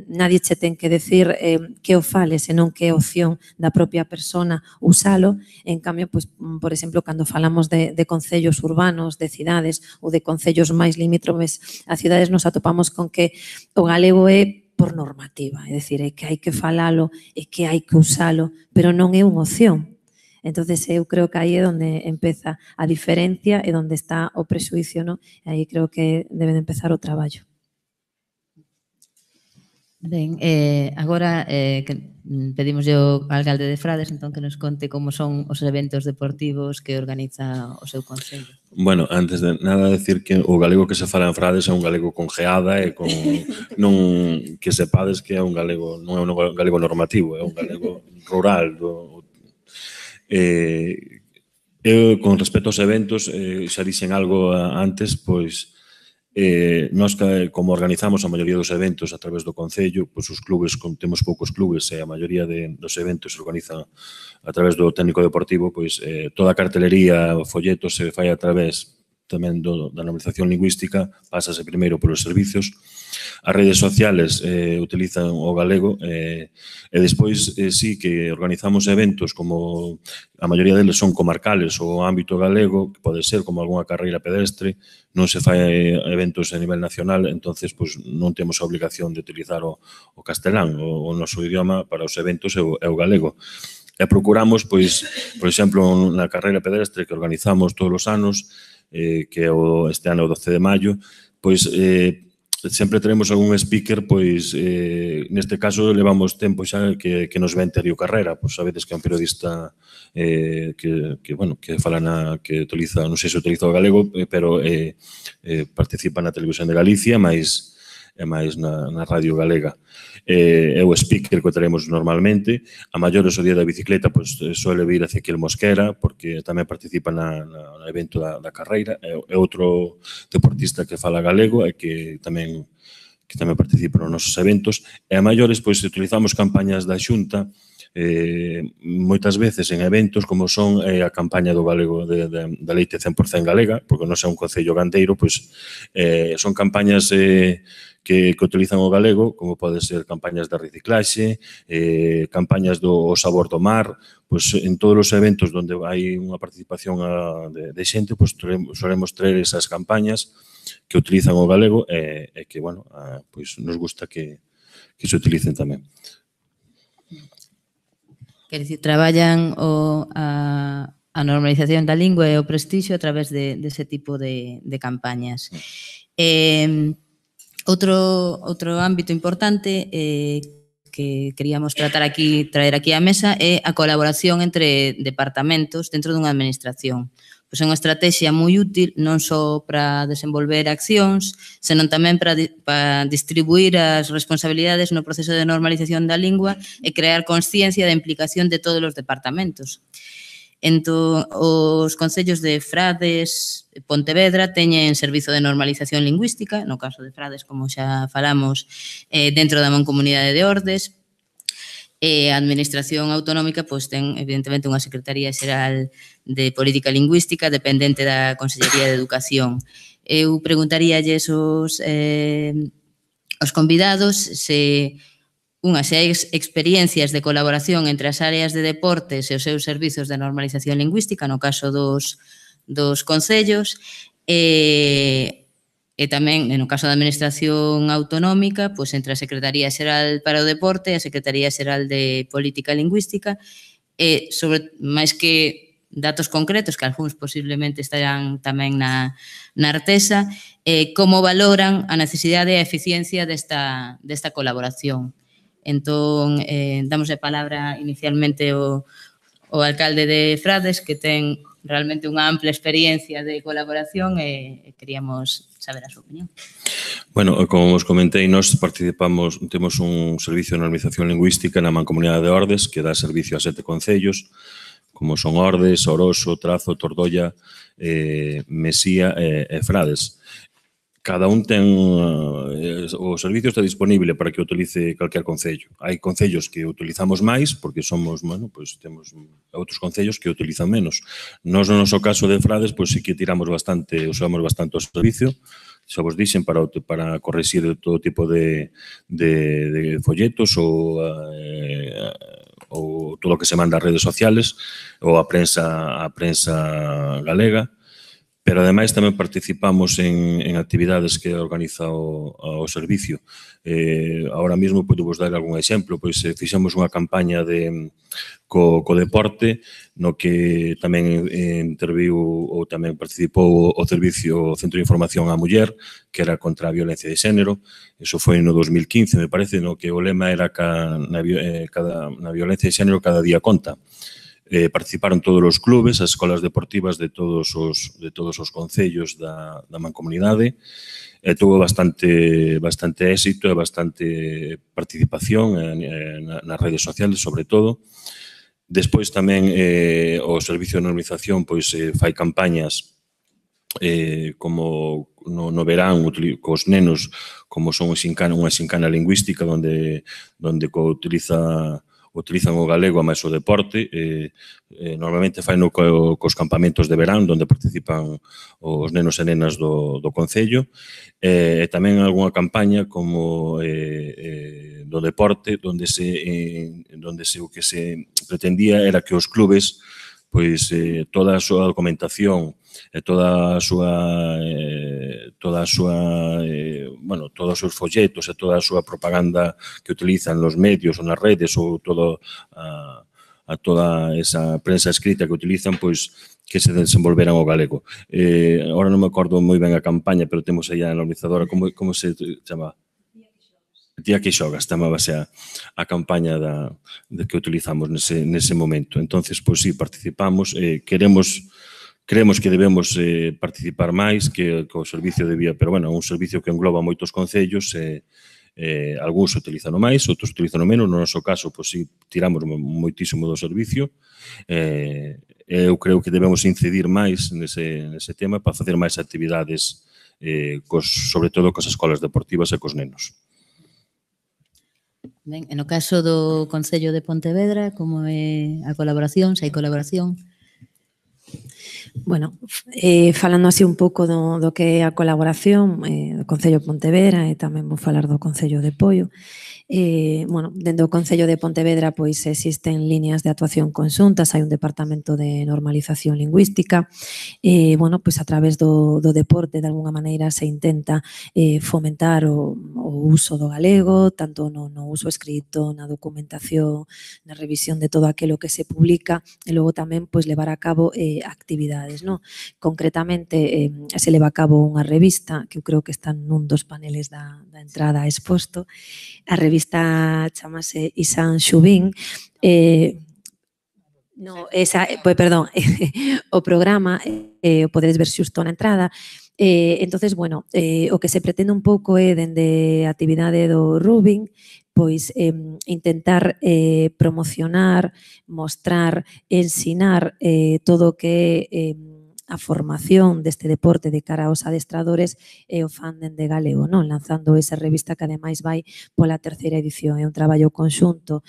nadie che ten que decir que o fale, senón que é opción da propia persona usalo. En cambio, pois, por exemplo, cando falamos de concellos urbanos, de cidades ou de concellos máis limítrofes a cidades, nos atopamos con que o galego é por normativa, é dicir, é que hai que falalo, é que hai que usalo, pero non é unha opción. Entonces, eu creo que aí é onde empeza a diferencia e onde está o prexuicio, non? E aí creo que debe de empezar o traballo. Ben, agora que pedimos ao alcalde de Frades entón que nos conte como son os eventos deportivos que organiza o seu concello. Bueno, antes de nada decir que o galego que se fala en Frades é un galego con geada e con non que sepades que é un galego, non é un galego normativo, é un galego rural. Con respecto aos eventos, xa dixen algo antes, pois nós como organizamos a maioría dos eventos a través do Concello, pois os clubes, temos poucos clubes e a maioría dos eventos se organizan a través do técnico deportivo, pois toda a cartelería, o folleto se fai a través tamén da normalización lingüística, pásase primeiro polos servicios. As redes sociales utilizan o galego e despois sí que organizamos eventos como a maioría deles son comarcales ou ámbito galego, que pode ser como algunha carreira pedestre, non se fai eventos a nivel nacional, entonces pois non temos a obligación de utilizar o castelán, o noso idioma para os eventos é o galego. E procuramos, pois, por exemplo, na carreira pedestre que organizamos todos os anos, que é este ano o 12 de maio, pois sempre teremos algún speaker, pois neste caso levamos tempo xa que nos ven Terio Carrera, pois sabedes que é un periodista que fala que utiliza, non sei se utiliza o galego, pero participa na Televisión de Galicia, máis na radio galega. É o speaker que teremos normalmente. A maiores o día da bicicleta, pois suele vir Ezequiel Mosquera, porque tamén participa no evento da carreira. É outro deportista que fala galego e que tamén que tamén participan nos nosos eventos, e a maiores, pois, utilizamos campañas da Xunta, moitas veces en eventos como son a campaña do galego da leite 100% galega, porque non é un concello gandeiro, pois son campañas que utilizan o galego, como pode ser campañas de reciclaxe, campañas do sabor do mar, pois en todos os eventos onde hai unha participación de xente, pois solemos traer esas campañas que utilizan o galego e que, bueno, pois nos gusta que se utilicen tamén. Quer dicir, traballan a normalización da lingua e o prestixio a través dese tipo de campañas. Outro ámbito importante que queríamos traer aquí á mesa é a colaboración entre departamentos dentro dunha administración. Pois é unha estrategia moi útil non só para desenvolver accións, senón tamén para distribuir as responsabilidades no proceso de normalización da lingua e crear consciencia da implicación de todos os departamentos. Entón, os concellos de Frades e Pontevedra teñen servizo de normalización lingüística, no caso de Frades, como xa falamos, dentro da Mancomunidade de Ordes, e a Administración Autonómica pois, ten, evidentemente, unha Secretaría Xeral de Política Lingüística dependente da Consellería de Educación. Eu preguntaríalles aos convidados se hai experiencias de colaboración entre as áreas de deportes e os seus servizos de normalización lingüística, no caso dos concellos, e tamén, no caso da Administración Autonómica, pois entre a Secretaría Xeral para o Deporte e a Secretaría Xeral de Política Lingüística, e sobre máis que datos concretos, que algúns posiblemente estarán tamén na Artesa, como valoran a necesidade e a eficiencia desta colaboración. Entón, damos a palabra inicialmente ao alcalde de Frades, que ten realmente unha ampla experiencia de colaboración e queríamos saber a súa opinión. Bueno, como os comentei, nós temos un servicio de normalización lingüística na Mancomunidade de Ordes que dá servicio a 7 concellos, como son Ordes, Oroso, Trazo, Tordoia, Mesía e Frades. Cada un ten, o servicio está disponible para que o utilice calquer concello. Hai concellos que utilizamos máis, porque somos, bueno, pois temos outros concellos que utilizan menos. Nos, no noso caso de Frades, pois sí que usamos bastante o servicio, xa vos dixen, para correxir todo tipo de folletos ou todo o que se manda ás redes sociales ou a prensa galega. Pero, ademais, tamén participamos en actividades que organiza o servicio. Ahora mesmo, podo vos dar algún exemplo, pois fixemos unha campaña co deporte, no que tamén interviu ou tamén participou o servicio Centro de Información á Muller, que era contra a violencia de xénero. Iso foi no 2015, me parece, no que o lema era na violencia de xénero cada día conta. Participaron todos os clubes, as escolas deportivas de todos os concellos da mancomunidade, e tuvo bastante éxito e bastante participación nas redes sociales, sobre todo. Despois tamén o Servicio de Normalización fai campañas como no verán cos nenos, como son unha xincana lingüística onde utilizan o galego a máis o deporte. Normalmente faino cos campamentos de verán, onde participan os nenos e nenas do concello. E tamén algunha campaña como do deporte, onde o que se pretendía era que os clubes, toda a súa documentación e todos os seus folletos e toda a súa propaganda que utilizan nos medios ou nas redes ou toda esa prensa escrita que utilizan, que se desenvolveran o galego. Agora non me acordo moi ben a campaña, pero temos aí a normalizadora, como se chama? Tía que xogas, chamábase a campaña que utilizamos nese momento. Entonces, sí, participamos, creemos que debemos participar máis, que o servicio debía, pero, bueno, é un servicio que engloba moitos concellos, algúns utilizan máis, outros utilizan menos. No noso caso, sí, tiramos moitísimo do servicio. Eu creo que debemos incidir máis nese tema para facer máis actividades sobre todo cos escolas deportivas e cos nenos. Ben, e no caso do Concello de Pontevedra, como é a colaboración, se hai colaboración? Bueno, falando así un pouco do que é a colaboración do Concello de Pontevedra e tamén vou falar do Concello de Poio. Bueno, dentro do Concello de Pontevedra pois existen líneas de actuación conxuntas, hai un departamento de normalización lingüística, bueno, pois a través do deporte de alguna maneira se intenta fomentar o uso do galego, tanto no uso escrito, na documentación, na revisión de todo aquilo que se publica e logo tamén pois levar a cabo actividades, non? Concretamente se leva a cabo unha revista que eu creo que está nun dos paneles da entrada exposto. A revista chamase Isan Xubín, perdón, o programa o podedes ver xusto na entrada. Entonces, bueno, o que se pretende un pouco é, dende a actividade do Rubin, pois intentar promocionar, mostrar, ensinar todo o que é a formación deste deporte de cara aos adestradores e o fan dende galego, non? Lanzando esa revista que ademais vai pola terceira edición. É un traballo conxunto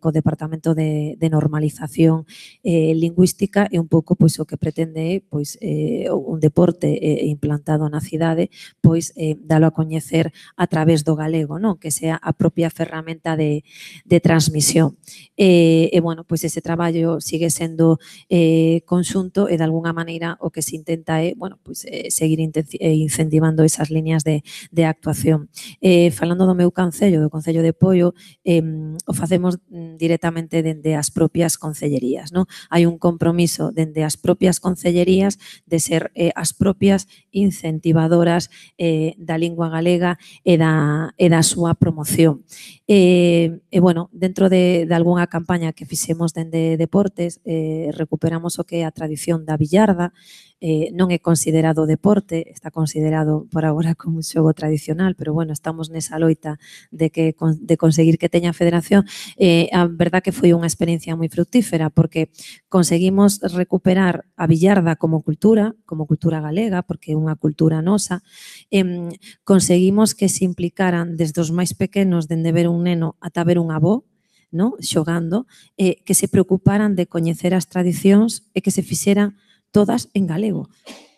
co Departamento de Normalización Lingüística e un pouco pois o que pretende é pois un deporte implantado na cidade, pois dalo a coñecer a través do galego, non? Que sea a propia ferramenta de transmisión. E bueno, pois ese traballo sigue sendo conxunto e de alguna maneira o que se intenta é, bueno, pois seguir incentivando esas líneas de actuación. Falando do meu concello, do Concello de Poio, o facemos directamente dende as propias concellerías, non? Hai un compromiso dende as propias concellerías de ser as propias incentivadoras da lingua galega e da súa promoción. E bueno, dentro de algunha campaña que fixemos dende deportes, recuperamos o que é a tradición da billarda. Non é considerado deporte, está considerado por agora como un xogo tradicional, pero bueno, estamos nesa loita de conseguir que teña federación. A verdad que foi unha experiencia moi fructífera, porque conseguimos recuperar a billarda como cultura galega, porque é unha cultura nosa. Conseguimos que se implicaran desde os máis pequenos, dende ver un neno ata ver un avó, no? Xogando, que se preocuparan de coñecer as tradicións e que se fixeran todas en galego,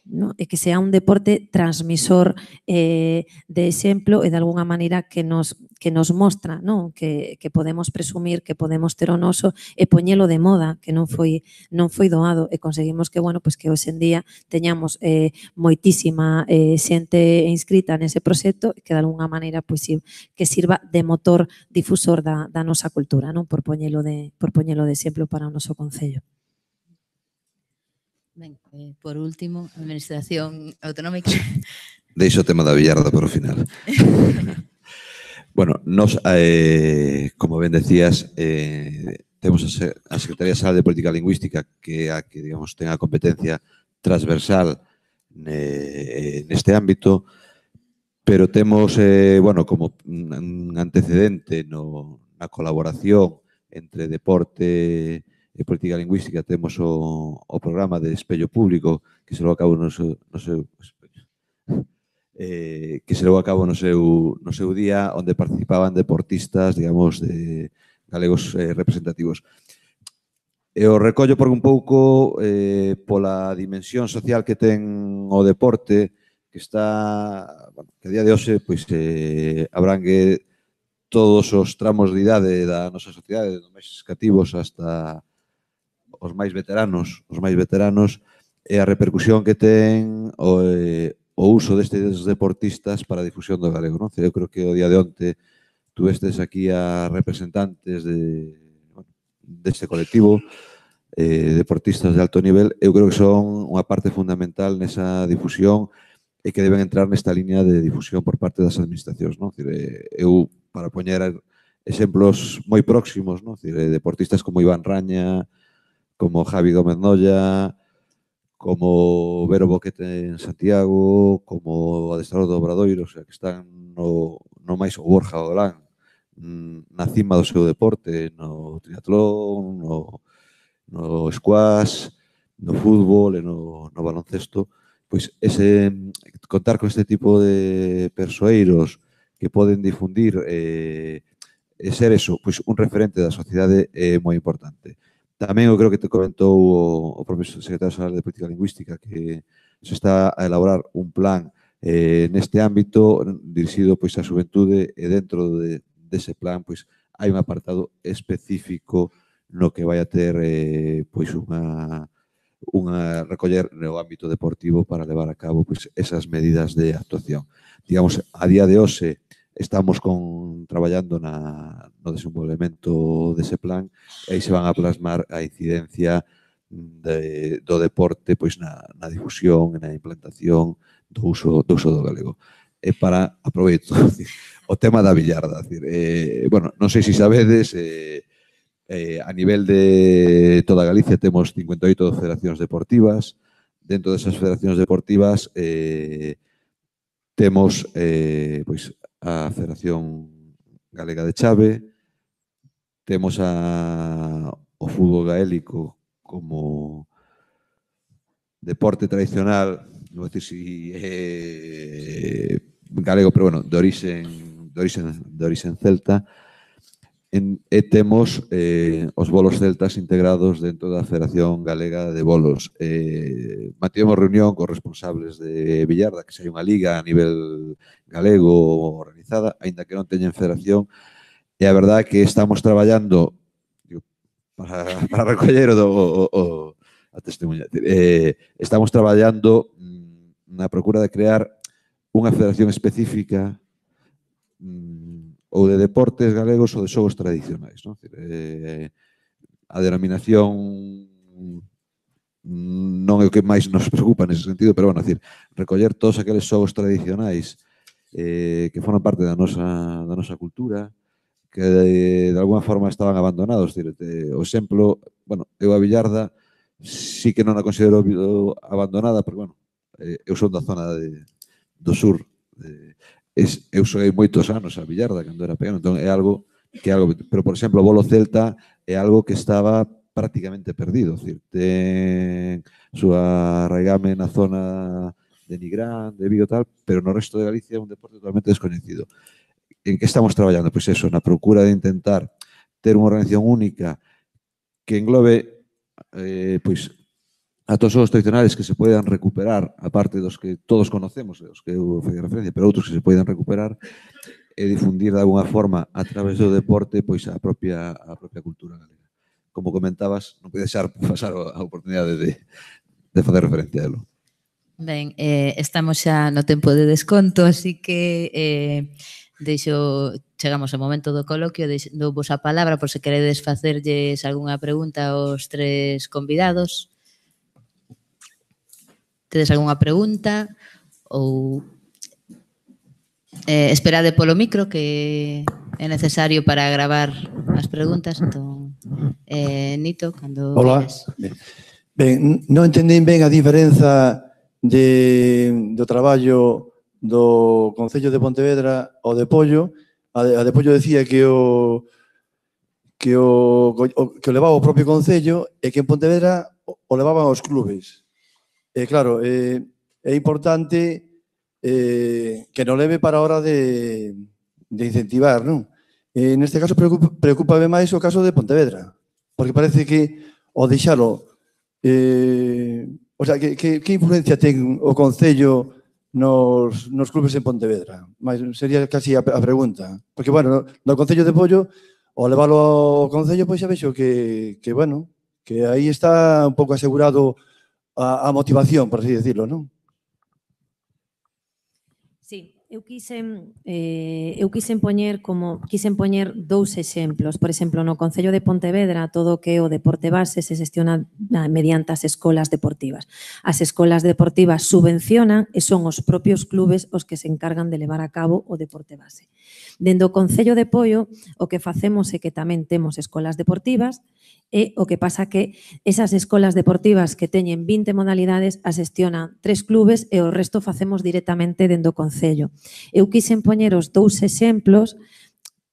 no? E que sea un deporte transmisor de exemplo e de alguna maneira que nos mostra, non? Que podemos presumir, que podemos ter o noso e poñelo de moda, que non foi doado, e conseguimos que, bueno, pois que hoxe en día teñamos moitísima xente inscrita nese proxecto que de alguna maneira pois que sirva de motor difusor da nosa cultura, non? Por poñelo de exemplo para o noso concello. Ben, por último, a Administración Autonómica. Deixo o tema da billarda para o final. Bueno, nos, como ben decías, temos a Secretaría Xeral de Política Lingüística, que é a que, digamos, ten a competencia transversal neste ámbito, pero temos, bueno, como un antecedente na colaboración entre deporte e política lingüística, temos o programa de Espello Público, que se levou a cabo no seu día, onde participaban deportistas, digamos, de galegos representativos. E o recollo por un pouco pola dimensión social que ten o deporte, que está, bueno, que a día de hoxe pois abrangue todos os tramos de idade da nosa sociedade, dos máis cativos hasta os máis veteranos, e a repercusión que ten o uso destes deportistas para a difusión do galego, non? Eu creo que o día de onte tuvestes aquí a representantes deste colectivo, deportistas de alto nivel. Eu creo que son unha parte fundamental nesa difusión e que deben entrar nesta línea de difusión por parte das administracións, non? Eu, para poñer exemplos moi próximos, non? Deportistas como Iván Raña, como Javi Gómez Nolla, como Vero Boquete en Santiago, como o adestrador do Obradoiro, o sea, que están no máis o Borja Olán, na cima do seu deporte, no triatlón, no squash, no fútbol e no baloncesto, pois contar con este tipo de persoeiros que poden difundir e ser eso, pois un referente da sociedade é moi importante. Tamén eu creo que te comentou o propio secretario xeral de Política Lingüística que se está a elaborar un plan neste ámbito dirixido pois á xuventude e dentro dese plan pois hai un apartado específico no que vai a ter pois unha recoller no ámbito deportivo para levar a cabo pois esas medidas de actuación. Digamos, a día de hoxe estamos traballando no desenvolvemento dese plan e aí se van a plasmar a incidencia do deporte pois na difusión e na implantación do uso do galego. E para, aproveito, o tema da billarda. Bueno, non sei se sabedes, a nivel de toda Galicia temos 58 federacións deportivas. Dentro desas federacións deportivas temos pois a Federación Galega de Chave, temos o fútbol gaélico como deporte tradicional, non vou dicir si galego, pero bueno, de orixen celta, e temos os bolos celtas integrados dentro da Federación Galega de Bolos. Mantivemos reunión cos responsables de billarda, que se hai unha liga a nivel galego organizada, aínda que non teñen federación, e a verdade é que estamos traballando para recoller a testemunha. Estamos traballando na procura de crear unha federación específica ou de deportes galegos ou de xogos tradicionais. A denominación non é o que máis nos preocupa nese sentido, pero, bueno, recoller todos aqueles xogos tradicionais que foran parte da nosa cultura, que de alguma forma estaban abandonados. O exemplo, bueno, eu a billarda sí que non a considero abandonada, porque, bueno, eu son da zona do sur. Eu xoguei moitos anos a billarda cando era pequeno, entón é algo que pero, por exemplo, o bolo celta é algo que estaba prácticamente perdido. Ten súa arraigame na zona de Nigrán, de Vigo, tal, pero no resto de Galicia é un deporte totalmente descoñecido. En que estamos traballando? Pois eso, na procura de intentar ter unha organización única que englobe pois a todos os tradicionales que se poidan recuperar, aparte dos que todos conocemos, os que eu fui referencia, pero outros que se poidan recuperar e difundir de alguna forma a través do deporte pois a propia cultura galega. Como comentabas, non pode deixar pasar a oportunidade de facer referencia a elo. Ben, estamos xa no tempo de desconto, así que chegamos ao momento do coloquio, dou vos a palabra por se queredes facerlles algunha pregunta aos tres convidados. Tedes algunha pregunta ou esperade polo micro que é necesario para gravar as preguntas. Entón, Nito, cando veres. Ben, non entendín ben a diferenza do traballo do Concello de Pontevedra ao de Pollo. A de Pollo decía que o levaba o propio Concello e que en Pontevedra o levaban os clubes. Claro, é importante que non leve para a hora de incentivar, non? Neste caso, preocúpame máis o caso de Pontevedra, porque parece que o deixalo... O sea, que influencia ten o Concello nos clubes en Pontevedra? Sería casi a pregunta. Porque, bueno, no Concello de Pollo, ao leválo ao Concello, pois xa vexo que bueno, que aí está un pouco asegurado a motivación, por así decirlo, non? Sí, eu quixen poñer dous exemplos. Por exemplo, no Concello de Pontevedra, todo o que é o deporte base se xestiona mediante as escolas deportivas. As escolas deportivas subvencionan e son os propios clubes os que se encargan de levar a cabo o deporte base. Dende o Concello de Pollo, o que facemos é que tamén temos escolas deportivas, e o que pasa que esas escolas deportivas que teñen 20 modalidades as xestionan 3 clubes e o resto facemos directamente dentro do Concello. Eu quixen poñer os dous exemplos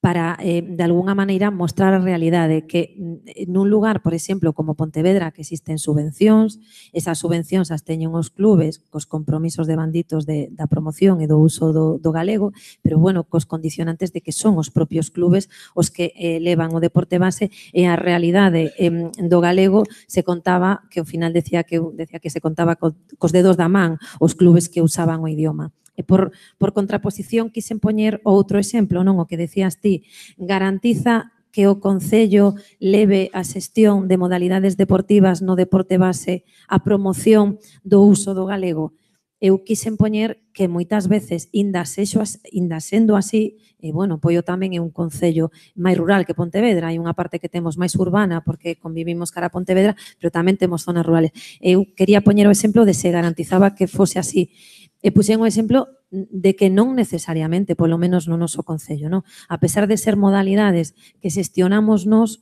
para, de alguna maneira, mostrar a realidade que nun lugar, por exemplo, como Pontevedra, que existen subvencións, esas subvencións as teñen os clubes cos compromisos devanditos da promoción e do uso do galego, pero, bueno, cos condicionantes de que son os propios clubes os que levan o deporte base e a realidade do galego se contaba, que ao final decía que se contaba cos dedos da man os clubes que usaban o idioma. E por contraposición quixen poñer outro exemplo, non o que decías ti, garantiza que o Concello leve a xestión de modalidades deportivas no deporte base a promoción do uso do galego. Eu quixen poñer que moitas veces, inda sendo así, e, bueno, Poio tamén é un concello máis rural que Pontevedra, hai unha parte que temos máis urbana porque convivimos cara a Pontevedra, pero tamén temos zonas rurales. Eu quería poñer o exemplo de se garantizaba que fose así. E puxen o exemplo de que non necesariamente, polo menos no noso concello, non? A pesar de ser modalidades que xestionamos nós,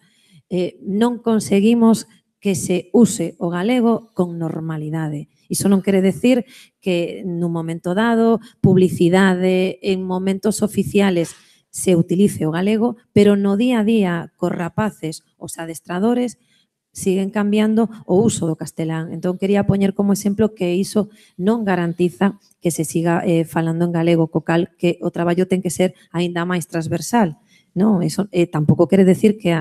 non conseguimos que se use o galego con normalidade. Iso non quere decir que nun momento dado, publicidade, en momentos oficiales se utilice o galego, pero no día a día cos rapaces, os adestradores, siguen cambiando o uso do castelán. Entón, quería poñer como exemplo que iso non garantiza que se siga falando en galego, co cal que o traballo ten que ser aínda máis transversal. Non, eso tampouco quere decir que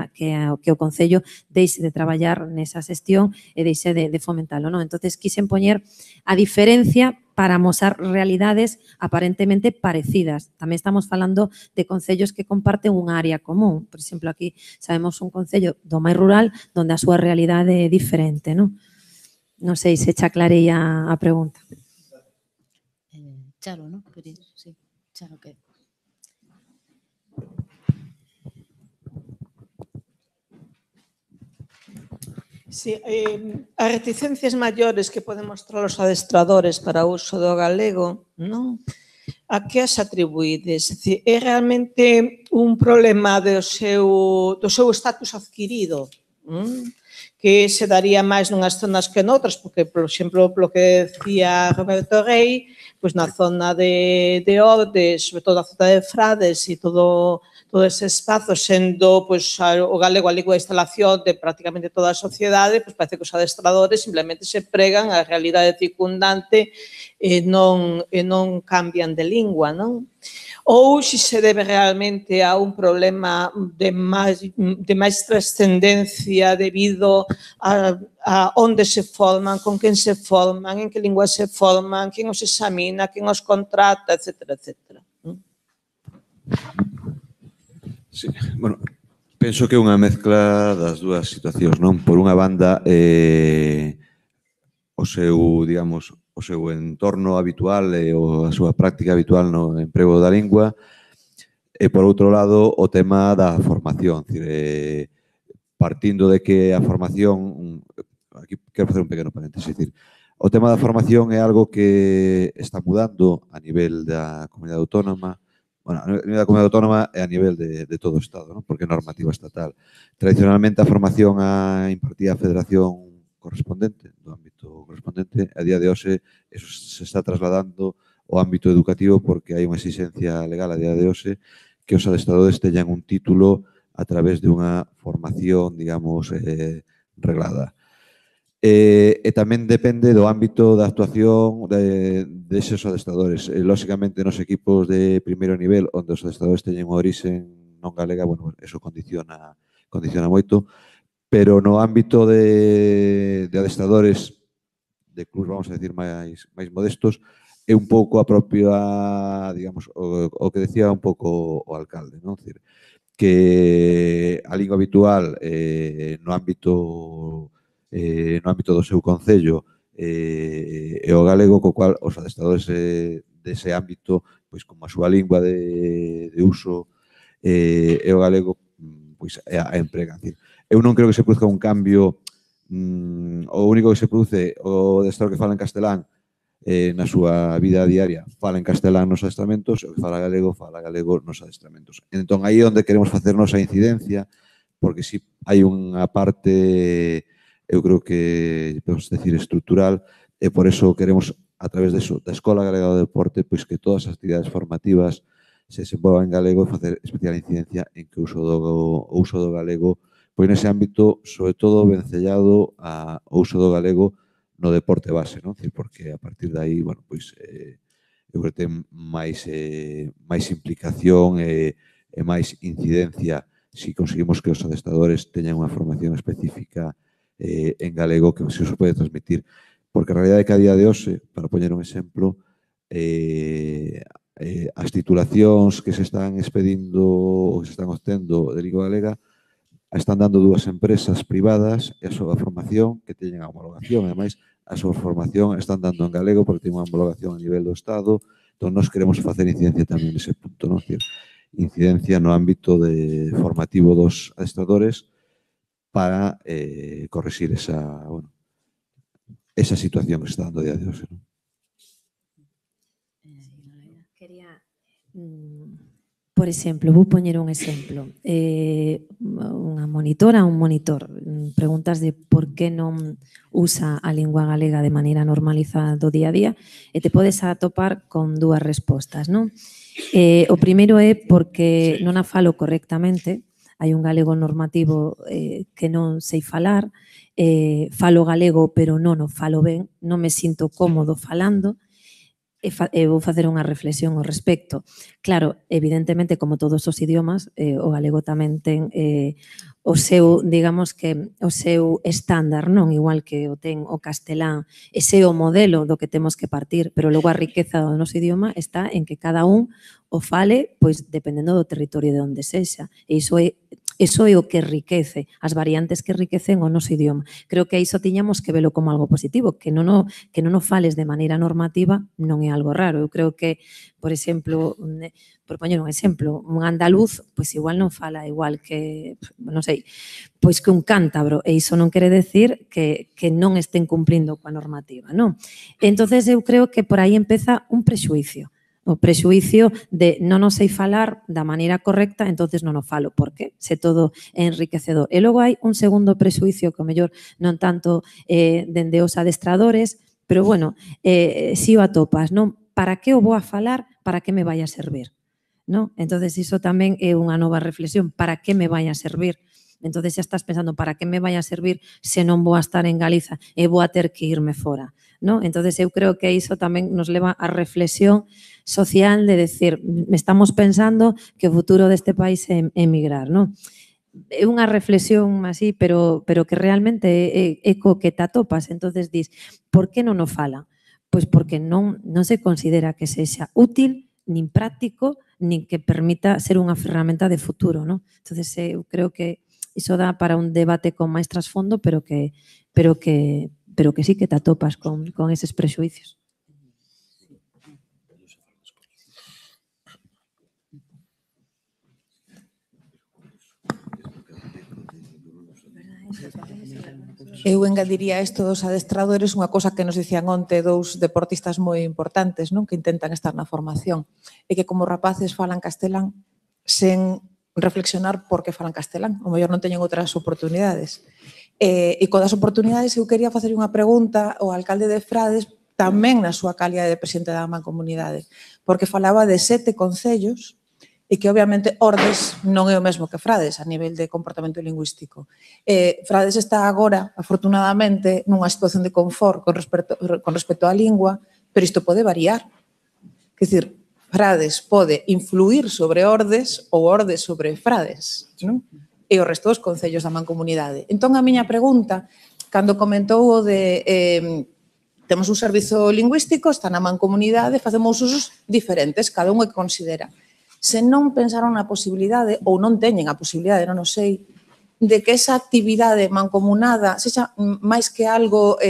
o Concello deixe de traballar nesa xestión e deixe de fomentalo, non? Entonces, quixen poñer a diferencia para amosar realidades aparentemente parecidas. Tamén estamos falando de concellos que comparten unha área común. Por exemplo, aquí sabemos un concello do máis rural onde a súa realidade é diferente, non? Non sei se xa aclarei a pregunta. Charo, non? Sí, Charo, que... Sí, as reticencias maiores que poden mostrar os adestradores para o uso do galego, non? A que as atribuídes? É realmente un problema do seu estatus adquirido, que se daría máis nunhas zonas que noutras, porque, por exemplo, polo que decía Roberto Rey, pois na zona de Ordes, sobre todo a zona de Frades e todo ese espazo, sendo o galego a lingua de instalación de prácticamente toda a sociedade, pois parece que os adestradores simplemente se pregan a realidade circundante e non cambian de lingua, non? Ou se se debe realmente a un problema de máis trascendencia debido a onde se forman, con quen se forman, en que lingua se forman, quen os examina, quen os contrata, etcétera, etcétera. Sí, bueno, penso que é unha mezcla das dúas situacións, non? Por unha banda, o seu entorno habitual e a súa práctica habitual no emprego da lingua, e, por outro lado, o tema da formación. Partindo de que a formación... Aquí quero facer un pequeno paréntesis. O tema da formación é algo que está mudando a nivel da comunidade autónoma. Bueno, a nivel da comunidade autónoma e a nivel de todo o Estado, non? Porque é normativa estatal. Tradicionalmente, a formación a impartía a federación correspondente, do ámbito correspondente, a día de hoxe eso se está trasladando ao ámbito educativo porque hai unha exigencia legal a día de hoxe que os adestradores teñan un título a través de unha formación, digamos, reglada. E tamén depende do ámbito da actuación deses adestradores. Lóxicamente, nos equipos de primeiro nivel, onde os adestradores teñen unha orixe non galega, bueno, eso condiciona moito, pero no ámbito de adestradores de clubs, vamos a decir, máis modestos, é un pouco a propia, digamos, o que decía un pouco o alcalde, non? Decir, que a lingua habitual no ámbito do seu concello é o galego, co cual os adestradores dese ámbito, pois como a súa lingua de uso é o galego, pois a empregan. Eu non creo que se produzca un cambio, o único que se produce o adestrador que fala en castelán na súa vida diaria fala en castelán nos adestramentos, o que fala galego nos adestramentos. Entón, aí é onde queremos facernos a incidencia, porque si hai unha parte, eu creo que podemos decir estrutural, e por eso queremos, a través da Escola Galega do Deporte, pois que todas as actividades formativas se desenvolva en galego e facer especial incidencia en que o uso do galego, pois nese ámbito, sobre todo, vencellado ao uso do galego no deporte base, non? Porque a partir de aí, bueno, pois, eu creo que ten máis implicación e máis incidencia se conseguimos que os adestradores teñan unha formación específica en galego que se os pode transmitir. Porque a realidade é que a día de hoxe, para poñer un exemplo, as titulacións que se están expedindo ou que se están obtendo de lingua galega a están dando dúas empresas privadas e a súa formación que teñen a homologación. Ademais, a súa formación están dando en galego porque ten unha homologación a nivel do Estado. Entón, nós queremos facer incidencia tamén nese punto, non? Incidencia no ámbito formativo dos adestradores para corregir esa situación que se está dando a día de hoxe. Quería, por exemplo, vou poñer un exemplo. Unha monitora, un monitor, preguntas de por que non usa a lingua galega de maneira normalizada do día a día e te podes atopar con dúas respostas, non? O primeiro é porque non a falo correctamente, hai un galego normativo que non sei falar, falo galego pero non o falo ben, non me sinto cómodo falando, e vou facer unha reflexión ao respecto. Claro, evidentemente, como todos os idiomas, o galego tamén ten o seu, digamos que, o seu estándar, non? Igual que o ten o castelán, ese é o modelo do que temos que partir, pero logo a riqueza do noso idioma está en que cada un o fale, pois, dependendo do territorio de onde sexa. E iso é o que enriquece, as variantes que enriquecen o noso idioma. Creo que iso tiñamos que velo como algo positivo, que non o fales de maneira normativa non é algo raro. Eu creo que, por exemplo, por poñer un exemplo, un andaluz, pois igual non fala igual que, non sei, pois que un cántabro, e iso non quere decir que non estén cumplindo coa normativa, non? Entonces eu creo que por aí empeza un prexuicio. O prexuicio de non o sei falar da maneira correcta, entonces non o falo. Por qué? Se todo é enriquecedor. E logo hai un segundo prexuicio que o mellor non tanto dende os adestradores, pero bueno, si o atopas, non? Para que o vou a falar? Para que me vai a servir? Non? Entonces iso tamén é unha nova reflexión. Para que me vai a servir? Entonces xa estás pensando, para que me vai a servir se non vou a estar en Galiza e vou a ter que irme fora? ¿No? Entonces eu creo que iso tamén nos leva a reflexión social de decir, estamos pensando que o futuro deste país é emigrar, ¿no? É unha reflexión así, pero que realmente é co que te atopas. Entonces dis, por que non o fala? Pois porque non se considera que sexa útil, nin práctico, nin que permita ser unha ferramenta de futuro, ¿no? Entonces eu creo que iso dá para un debate con máis trasfondo, pero que sí que te atopas con eses prexuicios. Eu engadiría isto dos adestradores unha cosa que nos dicían onte dous deportistas moi importantes, non, que intentan estar na formación, e que como rapaces falan castelán sen reflexionar por que falan castelán, o mellor non teñen outras oportunidades. E con das oportunidades eu quería facer unha pregunta ao alcalde de Frades tamén na súa calidade de presidente da Mancomunidade, porque falaba de 7 concellos e que obviamente Ordes non é o mesmo que Frades a nivel de comportamento lingüístico. Frades está agora, afortunadamente, nunha situación de confort con respecto á lingua, pero isto pode variar. Quer dizer, Frades pode influir sobre Ordes ou Ordes sobre Frades, non? E o resto dos concellos da Mancomunidade. Entón, a miña pregunta, cando comentou o de temos un servizo lingüístico, está na Mancomunidade, facemos usos diferentes, cada un o que considera. Se non pensaron na posibilidade, ou non teñen a posibilidade, non o sei, de que esa actividade mancomunada sexa máis que algo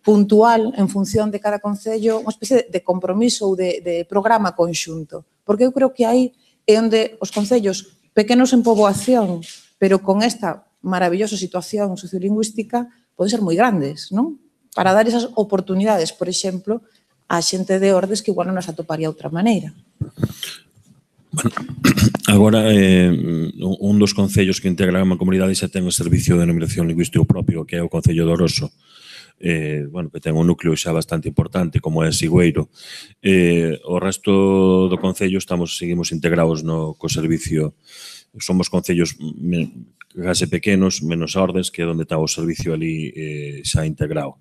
puntual en función de cada concello, unha especie de compromiso ou de programa conxunto. Porque eu creo que aí é onde os concellos pequenos en poboación, pero con esta maravillosa situación sociolingüística, poden ser moi grandes, non? Para dar esas oportunidades, por exemplo, a xente de Ordes que igual non as atoparía de outra maneira. Bueno, agora, un dos concellos que integran a Mancomunidade xa ten o servicio de denominación lingüístico propio, que é o Concello de Oroso. que ten un núcleo xa bastante importante como é Sigüeiro. O resto do Concello seguimos integrados co servicio. Somos concellos case pequenos, menos Ordes, que é onde está o servicio ali xa integrado.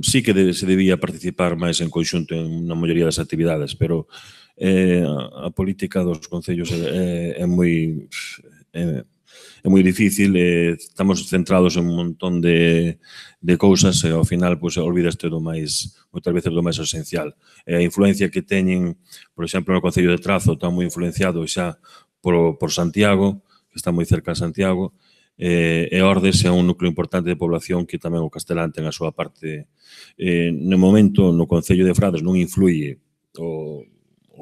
Sí que se debía participar máis en conxunto en na maioría das actividades, pero a política dos concellos é moi difícil, estamos centrados en un montón de cousas e ao final olvidaste moitas veces do máis esencial. A influencia que teñen, por exemplo, no Concello de Trazo, está moi influenciado xa por Santiago, que está moi cerca de Santiago, e Ordes é un núcleo importante de población que tamén o castelán ten a súa parte. No momento, no Concello de Frades non influye o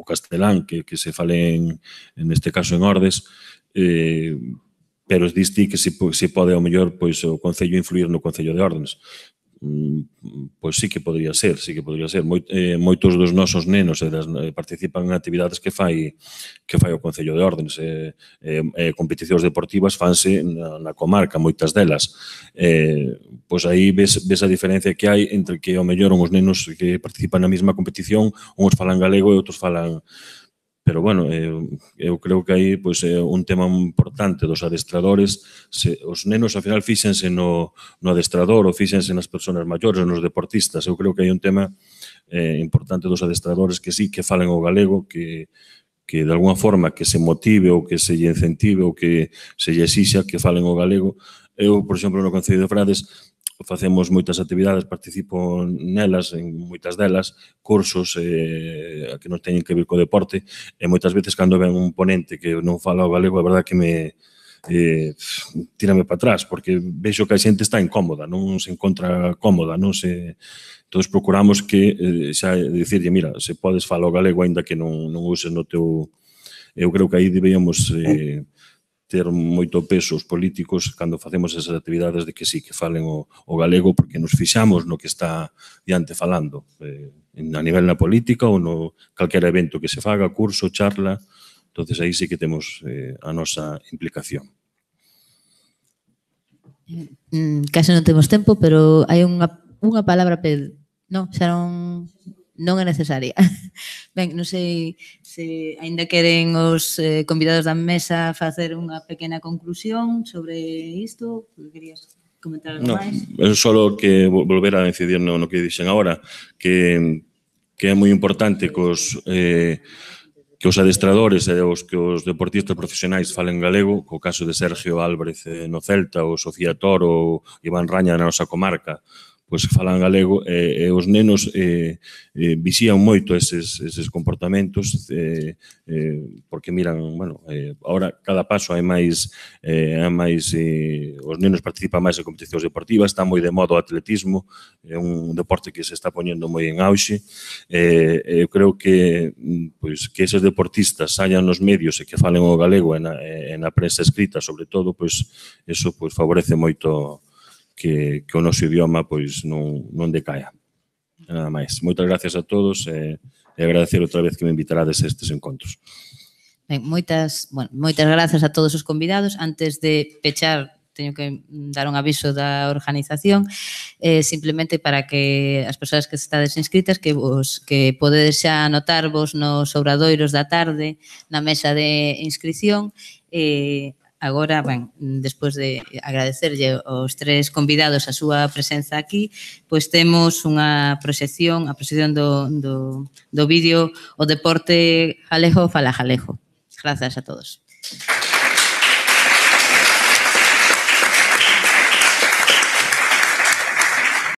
castelán que se fale neste caso en Ordes, pero diste que se pode ao mellor o Concello influir no Concello de Ordes. Pois sí que podría ser. Moitos dos nosos nenos participan en actividades que fai o Concello de Ordes. Competicións deportivas fanse na comarca, moitas delas. Pois aí ves a diferencia que hai entre que ao mellor os nenos que participan na mesma competición, uns falan galego e outros falan. Pero, bueno, eu creo que aí é un tema importante dos adestradores. Os nenos, ao final, fíxense no adestrador ou fíxense nas persoas maiores, nos deportistas. Eu creo que hai un tema importante dos adestradores que sí que falen o galego, que de alguna forma que se motive ou que se lle incentive ou que se lle exixa que falen o galego. Eu, por exemplo, no Concello de Frades, facemos moitas actividades, participo nelas, en moitas delas, cursos que non teñen que ver co deporte, e moitas veces cando ven un ponente que non fala o galego, a verdade que me tírame para atrás, porque vexo que a xente está incómoda, non se encontra cómoda, non se... Entón, procuramos que xa dicirlle, mira, se podes falar o galego aínda que non uses no teu... Eu creo que aí deberíamos ter moito peso os políticos cando facemos esas actividades de que sí, que falen o galego, porque nos fixamos no que está diante falando, a nivel na política ou no calquera evento que se faga, curso, charla, entonces aí sí que temos a nosa implicación. Case non temos tempo, pero hai unha palabra, non, xa non é necesaria. Ben, non sei se aínda queren os convidados da mesa facer unha pequena conclusión sobre isto, querías comentar algo máis? Non, só que volver a incidir no que dixen agora, que é moi importante que os adestradores e que os deportistas profesionais falen galego, co caso de Sergio Álvarez no Celta, ou Sofía Toro, ou Iván Raña na nosa comarca, pois falan galego, e os nenos vixían moito eses comportamentos, porque miran, bueno, ahora cada paso hai máis, os nenos participan máis en competicións deportivas, está moi de moda o atletismo, é un deporte que se está poñendo moi en auxe, eu creo que eses deportistas saian nos medios e que falen o galego e na prensa escrita, sobre todo, eso favorece moito que o noso idioma non decaia. Nada máis. Moitas gracias a todos e agradecer outra vez que me invitarades a estes encontros. Ben, moitas grazas a todos os convidados. Antes de pechar, teño que dar un aviso da organización, simplemente para que as persoas que estades inscritas que podedes xa anotarvos nos obradoiros da tarde na mesa de inscripción. Agora, ben, despois de agradecerlle aos tres convidados a súa presenza aquí, pois temos unha proxección, a proxección do vídeo O Deporte Galego fala galego. Grazas a todos.